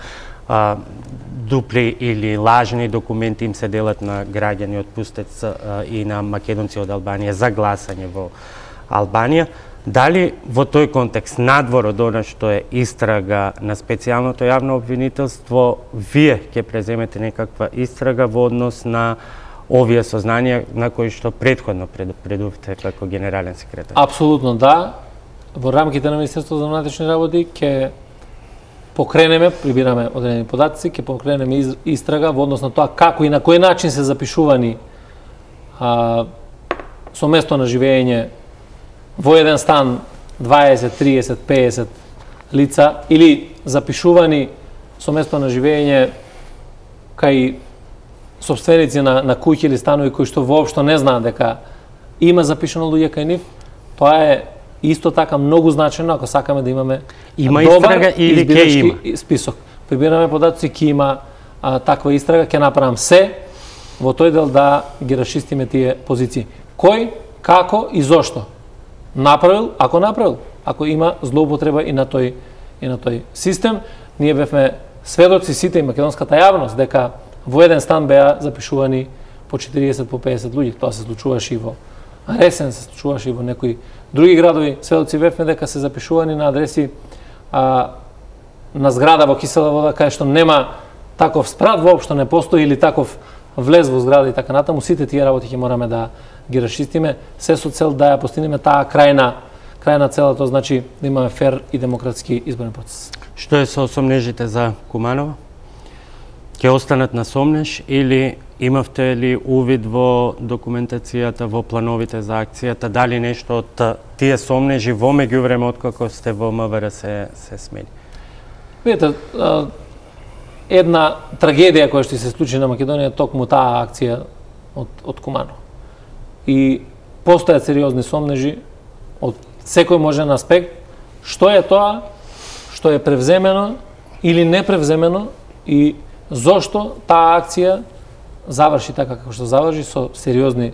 дупли или лажни документи им се делат на граѓани од Пустец и на македонци од Албанија за гласање во Албанија. Дали во тој контекст, надвор од она што е истрага на специјалното јавно обвинителство, вие ќе преземете некаква истрага во однос на овие сознанија на кои што претходно предупредувате како генерален секретар? Апсолутно да. Во рамките на Министерството за внатрешни работи ќе покренеме, прибираме одредени податци, ќе покренеме истрага во однос на тоа како и на кој начин се запишувани со место на живење во еден стан 20, 30, 50 лица или запишувани со место на живење кај собственици на куќи или станови кои што воопшто не знаат дека има запишано луѓе кај нив, тоа е исто така многу значено ако сакаме да имаме истрага или ќе има список. Прибираме податци, ќе има таква истрага, ќе направам се во тој дел да ги расчистиме тие позиции. Кој, како и зошто направил, ако има злоупотреба и на тој систем. Ние бевме сведоци сите и македонската јавност дека во еден стан беа запишувани по 40, по 50 луѓе. Тоа се случуваше и во Ресен, се случуваше и во некои други градови. Сведоци бевме дека се запишувани на адреси на зграда во Кисела Вода, кај што нема таков спрат, воопшто не постои, или таков влез во зграда и така натаму. Сите тие работи ќе мораме да ги расчистиме, се со цел да ја постигнеме таа крајна цела, тоа значи да имаме фер и демократски изборен процес. Што е со сомнежите за Куманова? Ќе останат на сомнеж или имавте ли увид во документацијата, во плановите за акцијата, дали нешто од тие сомнежи во меѓувреме откако сте во МВР се смени? Видете, една трагедија која што се случи на Македонија токму таа акција од Куманов. И постојат сериозни сомнежи од секој можен аспект, што е тоа што е превземено или не превземено и зошто таа акција заврши така како што заврши, со сериозни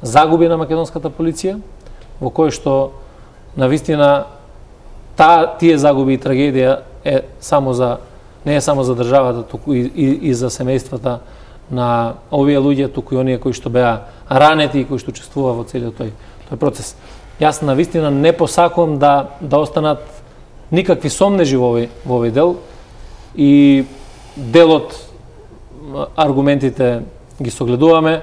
загуби на македонската полиција, во кој што навистина тие загуби и трагедија не е само за државата, туку и за семејствата на овие луѓе, туку и оние кои што беа ранети и кои што учествува во целиот тој процес. Јас навистина не посакувам да останат никакви сомнежи во овој дел и делот аргументите ги согледуваме,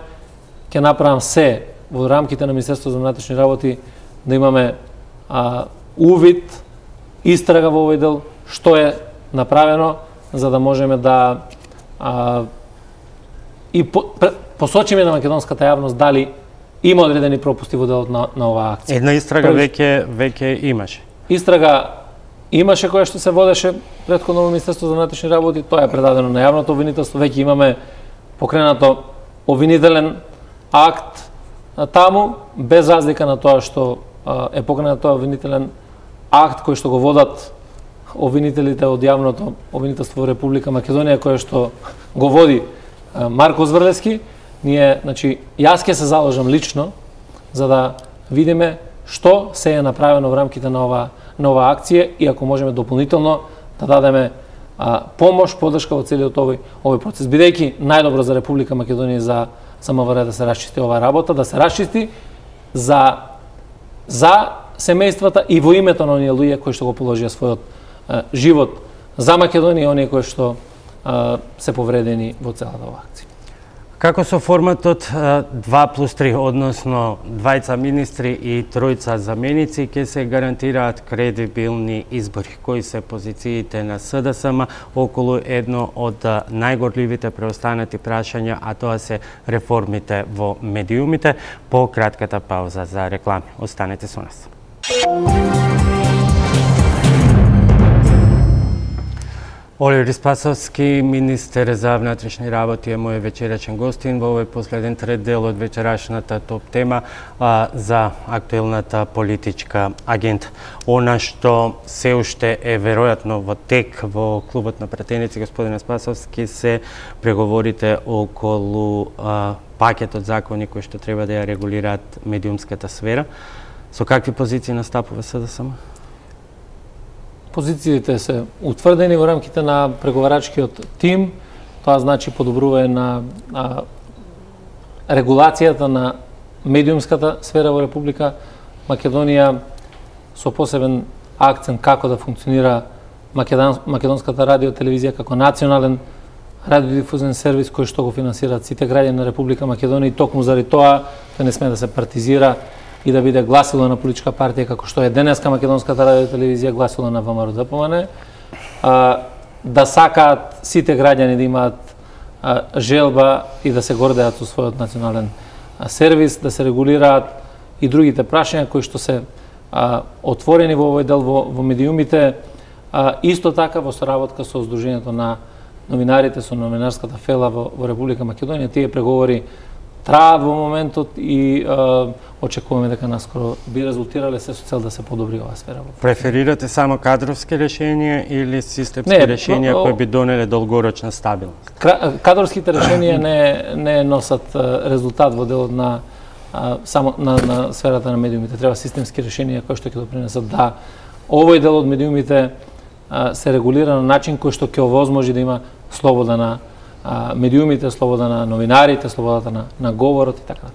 ќе направам се во рамките на Министерството за внатрешни работи да имаме увид, истрага во овој дел, што е направено, за да можеме да посочиме на македонската јавност дали има одредени пропусти во делот на оваа акција. Една истрага веќе имаше. Истрага имаше која што се водеше претходно во Министерството за внатрешни работи, тоа е предадено на јавното обвинителство, веќе имаме покренато обвинителен акт таму, без разлика на тоа што е покренат тоа обвинителен акт кој што го водат обвинителите од јавното обвинителство во Република Македонија, кој што го води Марко Зврлевски. Ние, значи, јас ќе се заложам лично за да видиме што се е направено во рамките на оваа акција и ако можеме дополнително да дадеме помош, подршка во целиот овој процес. Бидејќи најдобро за Република Македонија за МВР да се расчисти оваа работа, да се расчисти за семејствата и во името на оние луѓе кои што го положија својот живот за Македонија и оние кои што се повредени во целата оваа акција. Како со форматот 2+3, односно двајца министри и тројца заменици, ќе се гарантираат кредибилни избори? Кои се позициите на СДСМ околу едно од најгорливите преостанати прашања, а тоа се реформите во медиумите? По кратката пауза за реклами. Останете со нас. Оливер Спасовски, министер за внатрешни работи, е мој вечерачен гостин во овој последен трет дел од вечерашната топ тема за актуелната политичка агента. Она што се уште е веројатно во тек во клубот на пратеници, господине Спасовски, се преговорите околу пакетот закони кои што треба да ја регулираат медиумската сфера. Со какви позиции настапува СДСМ? Позициите се утврдени во рамките на преговарачкиот тим. Тоа значи подобрување на регулацијата на медиумската сфера во Република Македонија со посебен акцент како да функционира македонската радио телевизија како национален радиодифузен сервис кој што го финансираат сите граѓани на Република Македонија, и токму заради тоа не сме да се партизира и да биде гласило на политичка партија како што е денеска македонската радиотелевизија гласило на ВМРО-ДПМН, да сакаат сите граѓани да имаат желба и да се гордеат со својот национален сервис, да се регулираат и другите прашања кои што се отворени во овој дел во медиумите, исто така во соработка со Сдруженијето на новинарите, со новинарската фела во Република Македонија. Тие преговори траат во моментот и очекуваме дека наскоро би резултирале се со цел да се подобри оваа сфера. Преферирате само кадровски решенија или системски решенија кои би донеле долгорочна стабилност? Кадровските решенија не носат резултат во делот на само на сферата на медиумите. Треба системски решенија кои што ќе допринесат да овој дел од медиумите се регулира на начин кој што ќе овозможи да има слобода на медиумите, слобода на новинарите, слободата на говорот и така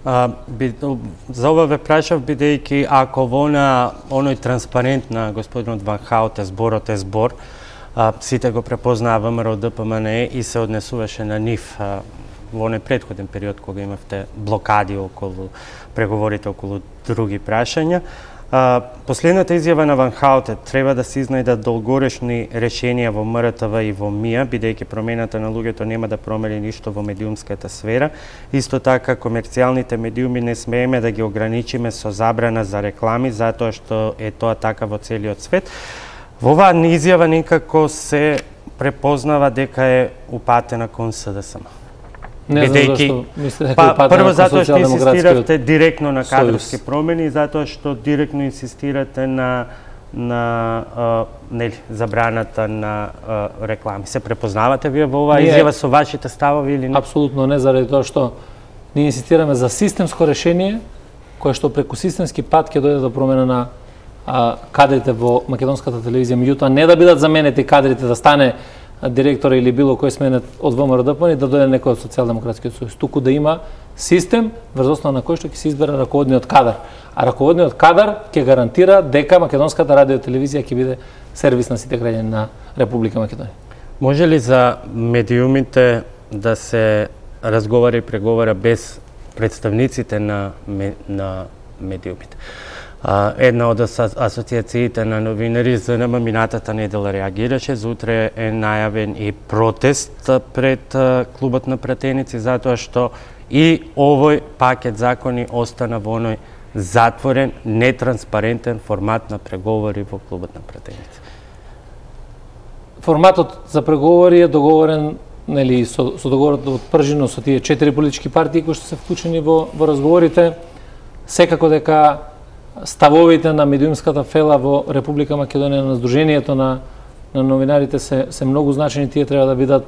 натаму. За ова ве прашав бидејќи ако во оној транспарент на господинот Ван Хауте зборот е збор, сите го препознаа ВМРО-ДПМН и се однесуваше на нив во оној претходен период кога имавте блокади околу преговорите околу други прашања. Последната изјава на Ван Хауте треба да се изнајдат долгорешни решенија во МРТВ и во МИА, бидејќи промената на луѓето нема да промени ништо во медиумската сфера. Исто така, комерцијалните медиуми не смееме да ги ограничиме со забрана за реклами, затоа што е тоа така во целиот свет. Во оваа изјава некако се препознава дека е упатена кон СДСМ. Не знам зашто мислите дека упатена прво кон затоа што инсистирате социјалдемократскиот директно на кадровски промени, затоа што директно инсистирате на забраната на реклами. Се препознавате вие во оваа изјава со вашите ставови или не? Апсолутно не, заради тоа што ние инсистираме за системско решение кое што преку системски пат ќе дојде до промена на кадрите во македонската телевизија, меѓутоа не да бидат заменети кадрите, да стане директора или било кој сменет од ВМРО-ДПМН, да дојде некој од Социјалдемократскиот сојуз, туку да има систем врз основа на кој што ќе се избере раководниот кадар. А раководниот кадар ќе гарантира дека македонската радиотелевизија ќе биде сервис на сите граѓани на Република Македонија. Може ли за медиумите да се разговара и преговара без представниците на медиумите? Една од асоциациите на новинари ЗНМ минатата недела реагираше, за утре е најавен и протест пред клубот на пратеници, затоа што и овој пакет закони остана во оној затворен, нетранспарентен формат на преговори во клубот на пратеници. Форматот за преговори е договорен, нели, со договорот од Пржино со тие 4 политички партии кои што се вклучени во разговорите. Секако дека ставовите на медиумската фела во Република Македонија, на Сдруженијето на новинарите се многу значени. Тие треба да бидат,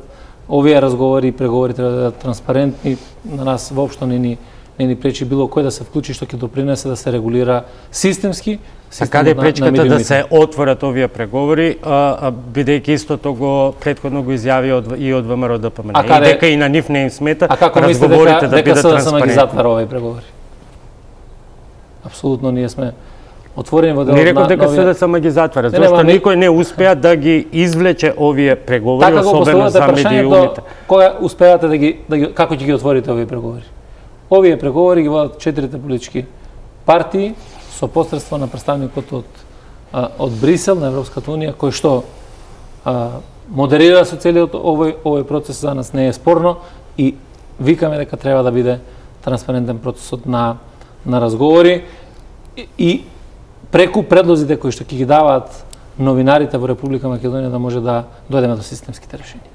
овие разговори и преговори треба да бидат транспарентни. На нас воопшто не ни пречи било кој да се вклучи што ќе допринесе да се регулира системски. А каде е пречката да се отворат овие преговори, бидејќи истото го претходно го изјави и од ВМРО-ДПМН, и дека и на нив не им смета разговорите да бидат транспарентни? Дека затвара овие преговори? Апсолутно ние сме отворени во делот на... Не реков дека СДСМ ги затвара, зашто никој не успеа да ги извлече овие преговори, особено за медиумите. Кога успеате како ќе ги отворите овие преговори? Овие преговори ги водат 4 политички партии со посредство на представникот од Брисел на Европската унија, кој што модерира со целиот овој процес. За нас не е спорно и викаме дека треба да биде транспарентен процесот на разговори и преку предлозите кои што ќе ги даваат новинарите во Република Македонија да може да дојдеме до системските решенија.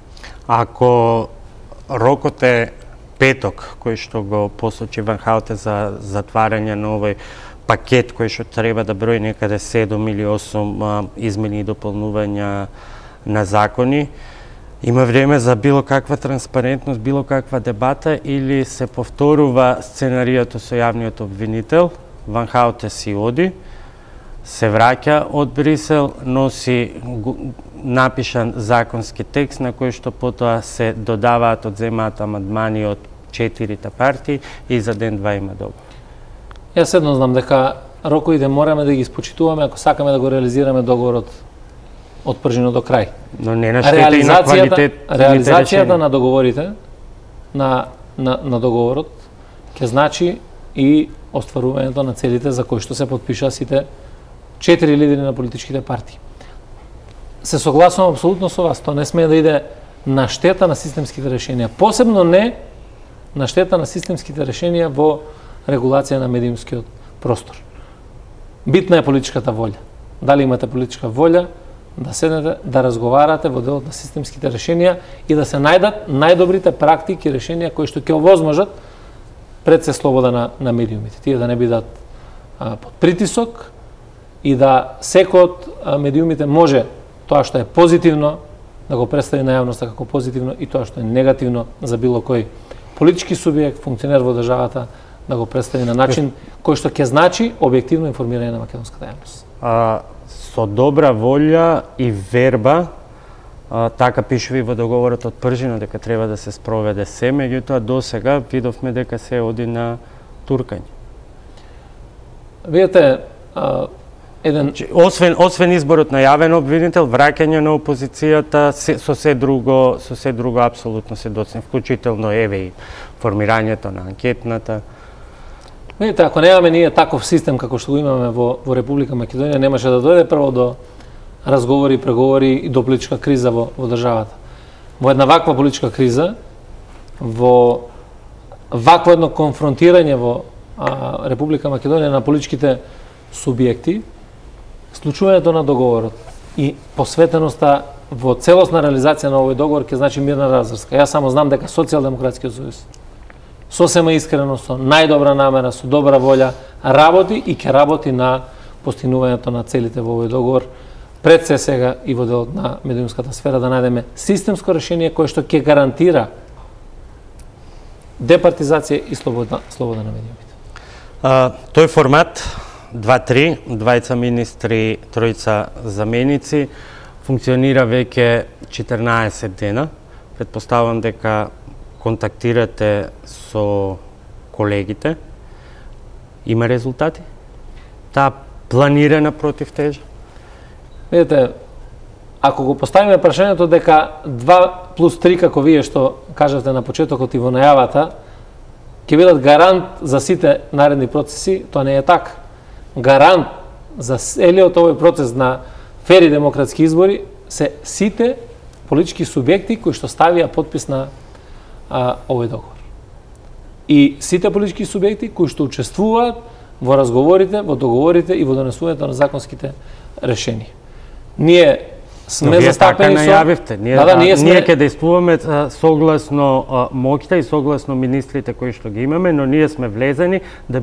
Ако рокот е петок, кој што го посочи Ван Хауте за затварање на овој пакет кој што треба да брои некаде 7 или 8 измени и дополнувања на закони, има време за било каква транспарентност, било каква дебата, или се повторува сценаријето со јавниот обвинител, Ван Хауте си оди, се враќа од Брисел, носи напишан законски текст на кој што потоа се додаваат, одземаат амандмани од 4 партии и за ден-два има договор. Јас едно знам дека роковите мораме да ги испочитуваме ако сакаме да го реализираме договорот од пржино до крај. Но не на штета и на квалитет. Реализацијата на договорите, на договорот, ќе значи и остварувањето на целите за кои што се подпишаа сите 4 лидери на политичките партии. Се согласувам апсолутно со вас, тоа не смее да иде на штета на системските решенија, посебно не на штета на системските решенија во регулација на медиумскиот простор. Битна е политичката волја. Дали имате политичка волја да седнете, да разговарате во делот на системските решенија и да се најдат најдобрите практики и решенија кои што ќе овозможат пред се слобода на медиумите. Тие да не бидат под притисок и да секој од медиумите може тоа што е позитивно да го представи на јавноста како позитивно и тоа што е негативно за било кој политички субјект, функционер во државата да го представи на начин кој што ќе значи објективно информирање на македонската јавност. Со добра волја и верба, така пишува и во договорот од Пржино дека треба да се спроведе се, меѓутоа до сега видовме дека се оди на туркање. Видете, освен изборот на јавен обвинител, враќање на опозицијата, со се друго апсолутно се доцне, вклучително еве и формирањето на анкетната. Видите, ако немаме ние таков систем како што го имаме во Република Македонија, немаше да дојде прво до разговори, преговори и до политичка криза во државата. Во една ваква политичка криза, во вакво едно конфронтирање во Република Македонија на политичките субјекти, случувањето на договорот и посветеноста во целосна реализација на овој договор ќе значи мирна разврска. Јас само знам дека Социјалдемократскиот сојуз сосема искрено, со најдобра намера, со добра волја, работи и ќе работи на постигнувањето на целите во овој договор, пред се сега и во делот на медиумската сфера, да најдеме системско решение кое што ќе гарантира департизација и слобода на медиумите. Тој формат 2-3, двајца министри, тројца заменици, функционира веќе 14 дена. Предпоставам дека контактирате со колегите. Има резултати? Таа планирана противтежа? Видете, ако го поставиме прашањето дека 2+3, како вие што кажавте на почетокот и во најавата, ќе бидат гарант за сите наредни процеси, тоа не е така. Гарант за целиот овој процес на фери демократски избори се сите политички субјекти кои што ставија подпис на овој договор. И сите политички субјекти кои што учествуваат во разговорите, во договорите и во донесувањето на законските решенија. Ние сме застапени со... најавивте. Ние ќе действуваме согласно моќта и согласно министрите кои што ги имаме, но ние сме влезени да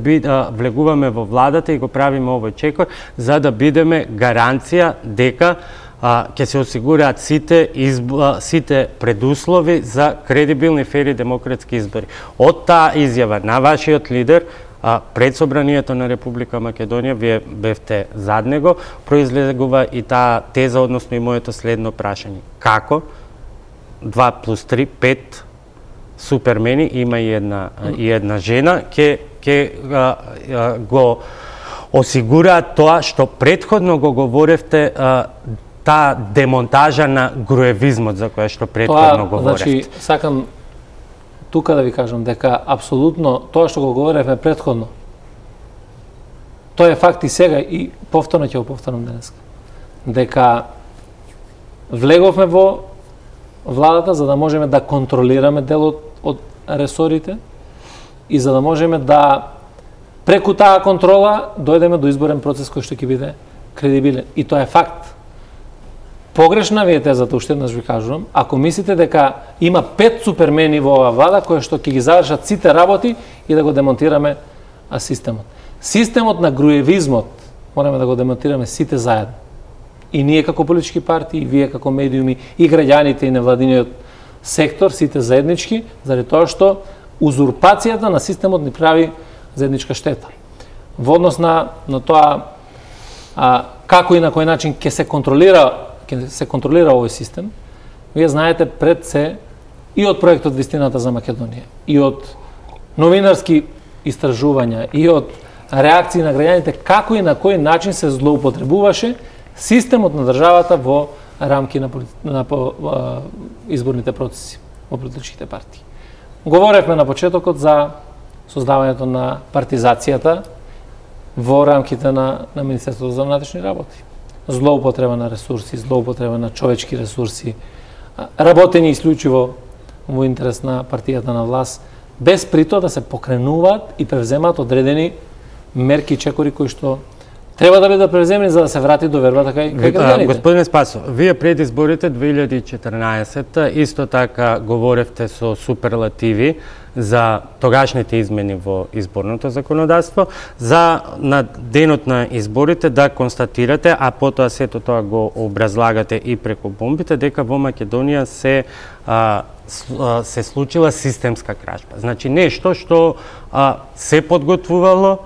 влегуваме во владата и го правиме овој чекор за да бидеме гаранција дека ќе се осигураат сите предуслови за кредибилни, фери демократски избори. Од таа изјава на вашиот лидер пред собранието на Република Македонија, вие бевте зад него, произлегува и таа теза, односно и моето следно прашање. Како 2+3, 5 супермени, има и една жена, ќе го осигураат тоа што претходно го говоревте, таа демонтажа на груевизмот за која што претходно говоревте. Значи, сакам тука да ви кажам дека апсолутно тоа што го говоревме претходно, тоа е факт и сега и повторно ќе го повторам денеска. Дека влеговме во владата за да можеме да контролираме делот од ресорите и за да можеме да преку таа контрола дојдеме до изборен процес кој што ќе биде кредибилен. И тоа е факт. Погрешна ви е тезата, уште еднаш ви кажувам, ако мислите дека има 5 супермени во оваа влада кои што ќе ги завршат сите работи и да го демонтираме системот. Системот на груевизмот мораме да го демонтираме сите заедно. И ние како политички партии, и вие како медиуми, и граѓаните и невладиниот сектор, сите заеднички, заради тоа што узурпацијата на системот ни прави заедничка штета. Во однос на тоа како и на кој начин ќе се контролира овој систем, вие знаете пред се и од проектот Вистината за Македонија, и од новинарски истражувања, и од реакции на граѓаните, како и на кој начин се злоупотребуваше системот на државата во рамки на изборните процеси во политичките партии. Говоревме на почетокот за создавањето на партизацијата во рамките на Министерството за внатрешни работи. Злоупотреба на ресурси, злоупотреба на човечки ресурси, работење исклучиво во интерес на партијата на власт, без прито да се покренуваат и превземаат одредени мерки и чекори кои што треба да бидат превземени за да се врати довербата кај граѓаните. Господине Спасов, вие пред изборите 2014 исто така говоревте со суперлативи за тогашните измени во изборното законодавство, за на денот на изборите да констатирате, а потоа сето тоа го образлагате и преку бомбите, дека во Македонија се случила системска кражба. Значи нешто што се подготвувало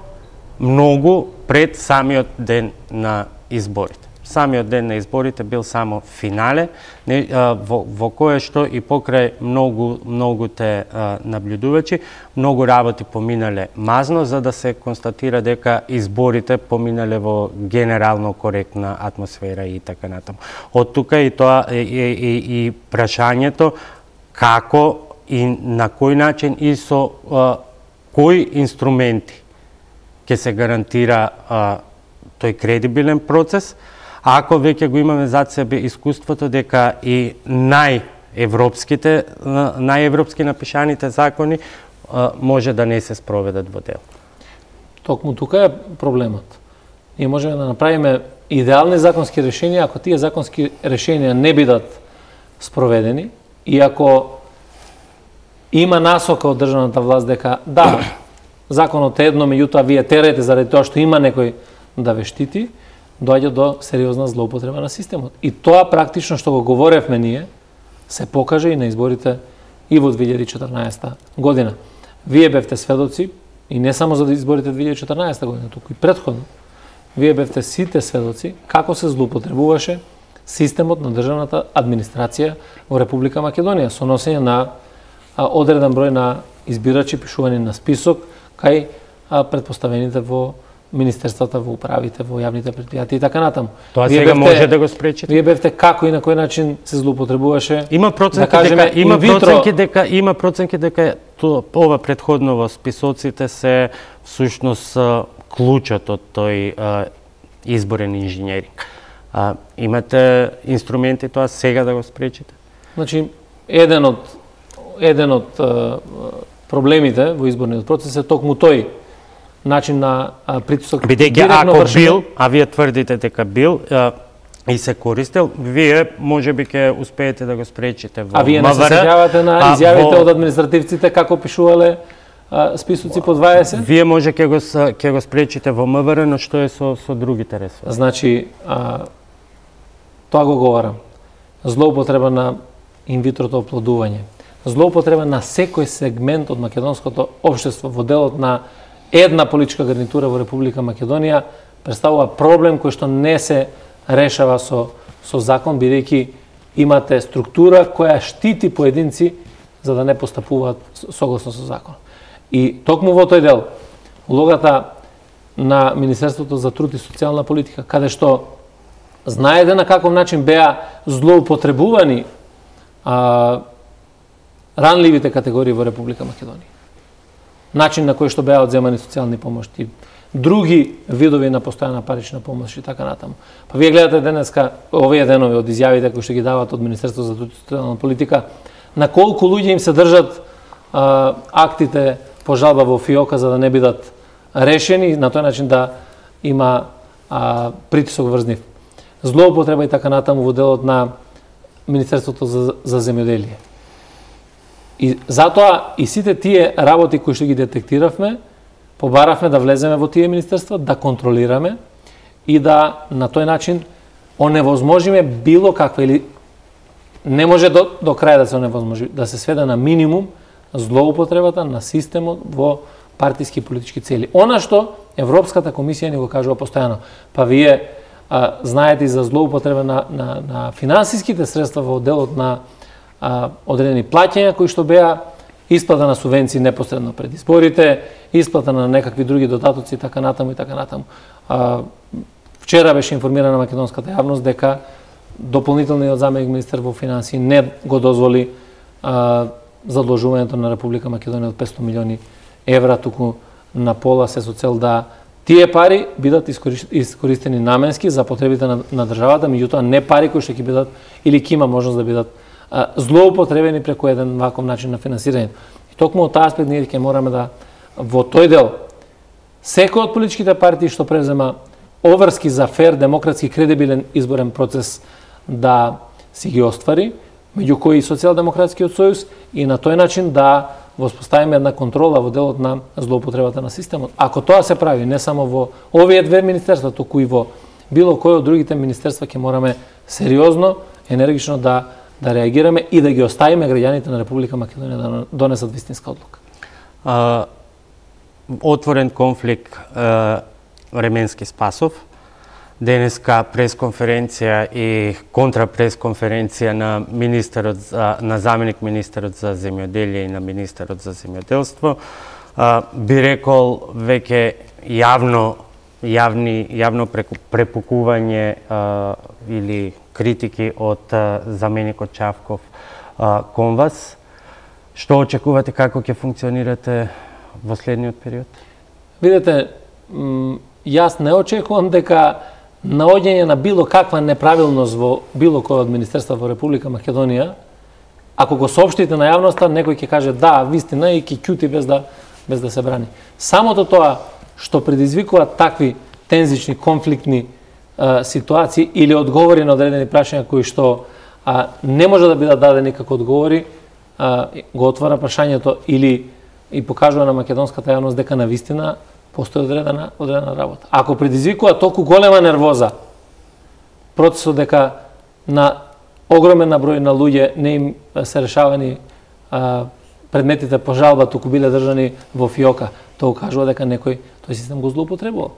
многу пред самиот ден на изборите. Самиот ден на изборите бил само финале, во кое што и покрај многуте наблюдувачи, многу работи поминале мазно, за да се констатира дека изборите поминале во генерално коректна атмосфера и така натаму. Од тука и тоа и прашањето како и на кој начин и со кои инструменти ќе се гарантира тој кредибилен процес, ако веќе го имаме зад себе искуството дека и најевропски напишаните закони може да не се спроведат во дел. Токму тука е проблемот. Ние можеме да направиме идеални законски решенија, ако тие законски решенија не бидат спроведени и ако има насока од државната власт дека да, законот е едно, меѓутоа вие терете заради тоа што има некој да ве штити, доаѓа до сериозна злоупотреба на системот. И тоа практично што го говоревме ние, се покаже и на изборите и во 2014 година. Вие бевте сведоци, и не само за изборите 2014 година, туку и предходно, вие бевте сите сведоци како се злоупотребуваше системот на државната администрација во Република Македонија, со носење на одреден број на избирачи, пишување на список, кај предпоставените во министерствата, во управите, во јавните предпријатија и така натаму. Тоа сега може да го спречите. Вие бевте како и на кој начин се злоупотребуваше. Има проценки дека ова претходно во списоците се всушност клучот од тој изборен инженеринг. Имате инструменти тоа сега да го спречите? Значи еден од проблемите во изборниот процес е токму тој начин на притисок. Бидејќи ако бил, а вие тврдите дека бил и се користел, вие можеби ќе успеете да го спречите во МВР. А вие не се сеќавате на изјавите од административците како пишувале списоци по 20? Вие може ќе го спречите во МВР, но што е со другите ресори? Значи тоа го говорам. Злоупотреба на инвитрото оплодување. Злоупотреба на секој сегмент од македонското општество во делот на една политичка гарнитура во Република Македонија представува проблем кој што не се решава со закон, бидејќи имате структура која штити поединци за да не постапуваат согласно со закон. И токму во тој дел, улогата на Министерството за труд и социјална политика, каде што знаете на каков начин беа злоупотребувани ранливите категории во Република Македонија. Начин на кој што беа одземани социјални помошти, други видови на постојана парична помош и така натаму. Па вие гледате денеска овие денови од изјавите кои што ги дават од Министерството за труд и социјална политика, на колку луѓе им се држат актите по жалба во ФИОКа за да не бидат решени, на тој начин да има притисок врз нив. Злоупотреба и така натаму во делот на Министерството за земјоделие. И затоа и сите тие работи кои што ги детектиравме, побаравме да влеземе во тие министерства, да контролираме и да на тој начин оневозможиме било каква или не може до крај да се оневозможи, да се сведе на минимум злоупотребата на системот во партиски и политички цели. Она што Европската комисија ни го кажува постојано. Па вие знаете и за злоупотреба на финансиските средства во делот на одредени плаќања кои што беа исплата на субвенции непосредно пред изборите, исплата на некакви други додатоци и така натаму и така натаму. Вчера беше информирана македонската јавност дека дополнителниот заменик министер во финансии не го дозволи задолжувањето на Република Македонија од 500 милиони евра, туку на пола се со цел да тие пари бидат искористени наменски за потребите на државата, меѓутоа не пари кои што ќе бидат или ќе има можност да бидат злоупотребени преку еден ваков начин на финансирање. И токму од таа аспект ние ќе мораме да во тој дел секој од политичките партии што презема обврски за фер, демократски, кредибилен изборен процес да си ги оствари, меѓу кои и Социјалдемократскиот сојуз, и на тој начин да воспоставиме една контрола во делот на злоупотребата на системот. Ако тоа се прави не само во овие две министерства, туку и во било кој од другите министерства, ќе мораме сериозно, енергично да реагираме и да ги оставиме граѓаните на Република Македонија да донесат вистинска одлука. Отворен конфликт Ременски Спасов. Денеска пресконференција и контрапресконференција на на заменик министерот за земјоделие и на министерот за земјоделство. Би рекол веќе јавно препукување или критики од заменикот Чавков кон вас. Што очекувате, како ќе функционирате во следниот период? Видете, јас не очекувам дека наоѓање на било каква неправилност во било кој од министерства во Република Македонија, ако го соопштите на јавноста, некој ќе каже да, вистина, и ќе ќути без да се брани. Самото тоа што предизвикува такви тензични, конфликтни ситуации или одговори на одредени прашања кои што не може да бидат дадени како одговори, го отвара прашањето или и покажува на македонската јавност дека на вистина постои одредена работа. Ако предизвикува толку голема нервоза процесот дека на огромен број на луѓе не им се решавани предметите по жалба, туку биле држани во фиока, тоа укажува дека некој тој систем го злоупотребува.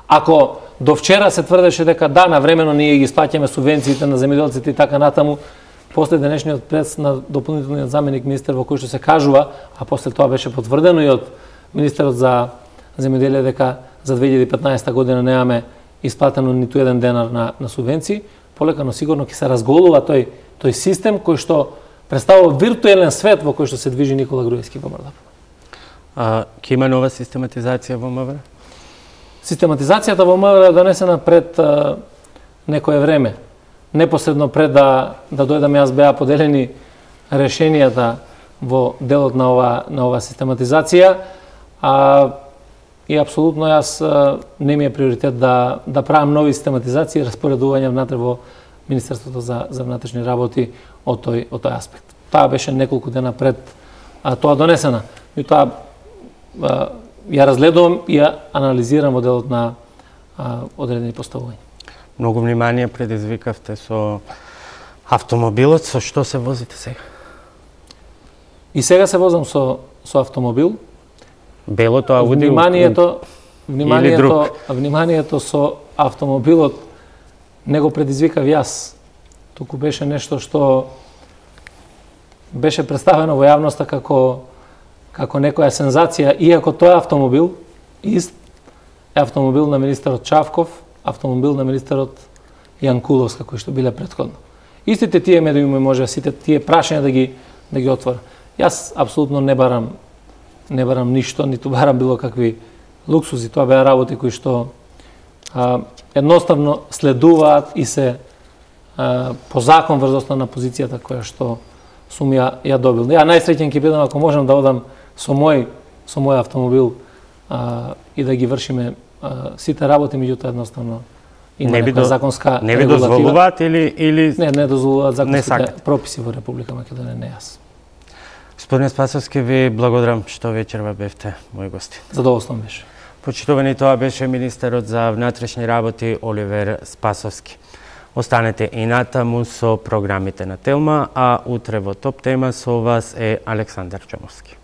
Ако до вчера се тврдеше дека да, навремено ние ги исплаќаме субвенциите на земјоделците и така натаму, после денешниот прес на дополнителниот заменик министер во кој што се кажува, а после тоа беше потврдено и од министерот за земјоделие дека за 2015 година немаме исплатено ниту еден денар на субвенции, полека но сигурно ќе се разголува тој систем кој што представува виртуелен свет во кој што се движи Никола Груевски во Мрдапа. Ќе има нова систематизација во МВР? Систематизацијата во МВР е донесена пред некое време. Непосредно пред да дојдам јас беа поделени решенијата во делот на ова систематизација, и апсолутно јас не ми е приоритет да правам нови систематизации и распоредување внатре во Министерството за внатрешни работи од тој аспект. Таа беше неколку дена пред тоа донесена. И тоа ја разгледувам и ја анализирам во делот на одредени поставувања. Многу внимание предизвикавте со автомобилот. Со што се возите сега? И сега се возам со автомобил. Белото Ауди вниманието со автомобилот не го предизвикав јас. Туку беше нешто што беше представено во јавноста како некоја сензација, иако тој автомобил ист е автомобил на министерот Чавков, автомобил на министерот Јанкуловска, кои што биле претходно. Истите тие медиуми може сите тие прашања да ги отвора. Јас апсолутно не барам ништо, ниту барам било какви луксузи. Тоа беа работи кои што едноставно следуваат и се по закон врз основа на позицијата која што сум ја добил. Ја најсреќен ќе бидам ако можам да одам со мој автомобил и да ги вршиме сите работи, меѓутоа едноставно има некоја законска регулатива. Не ви дозволуваат или не дозволуваат законските прописи во Република Македонија, не јас. Господин Спасовски, ви благодарам што вечерва бевте мој гости. Задоволствам беше. Почитувани, тоа беше министерот за внатрешни работи Оливер Спасовски. Останете и натаму со програмите на Телма, а утре во Топ тема со вас е Александар Чомовски.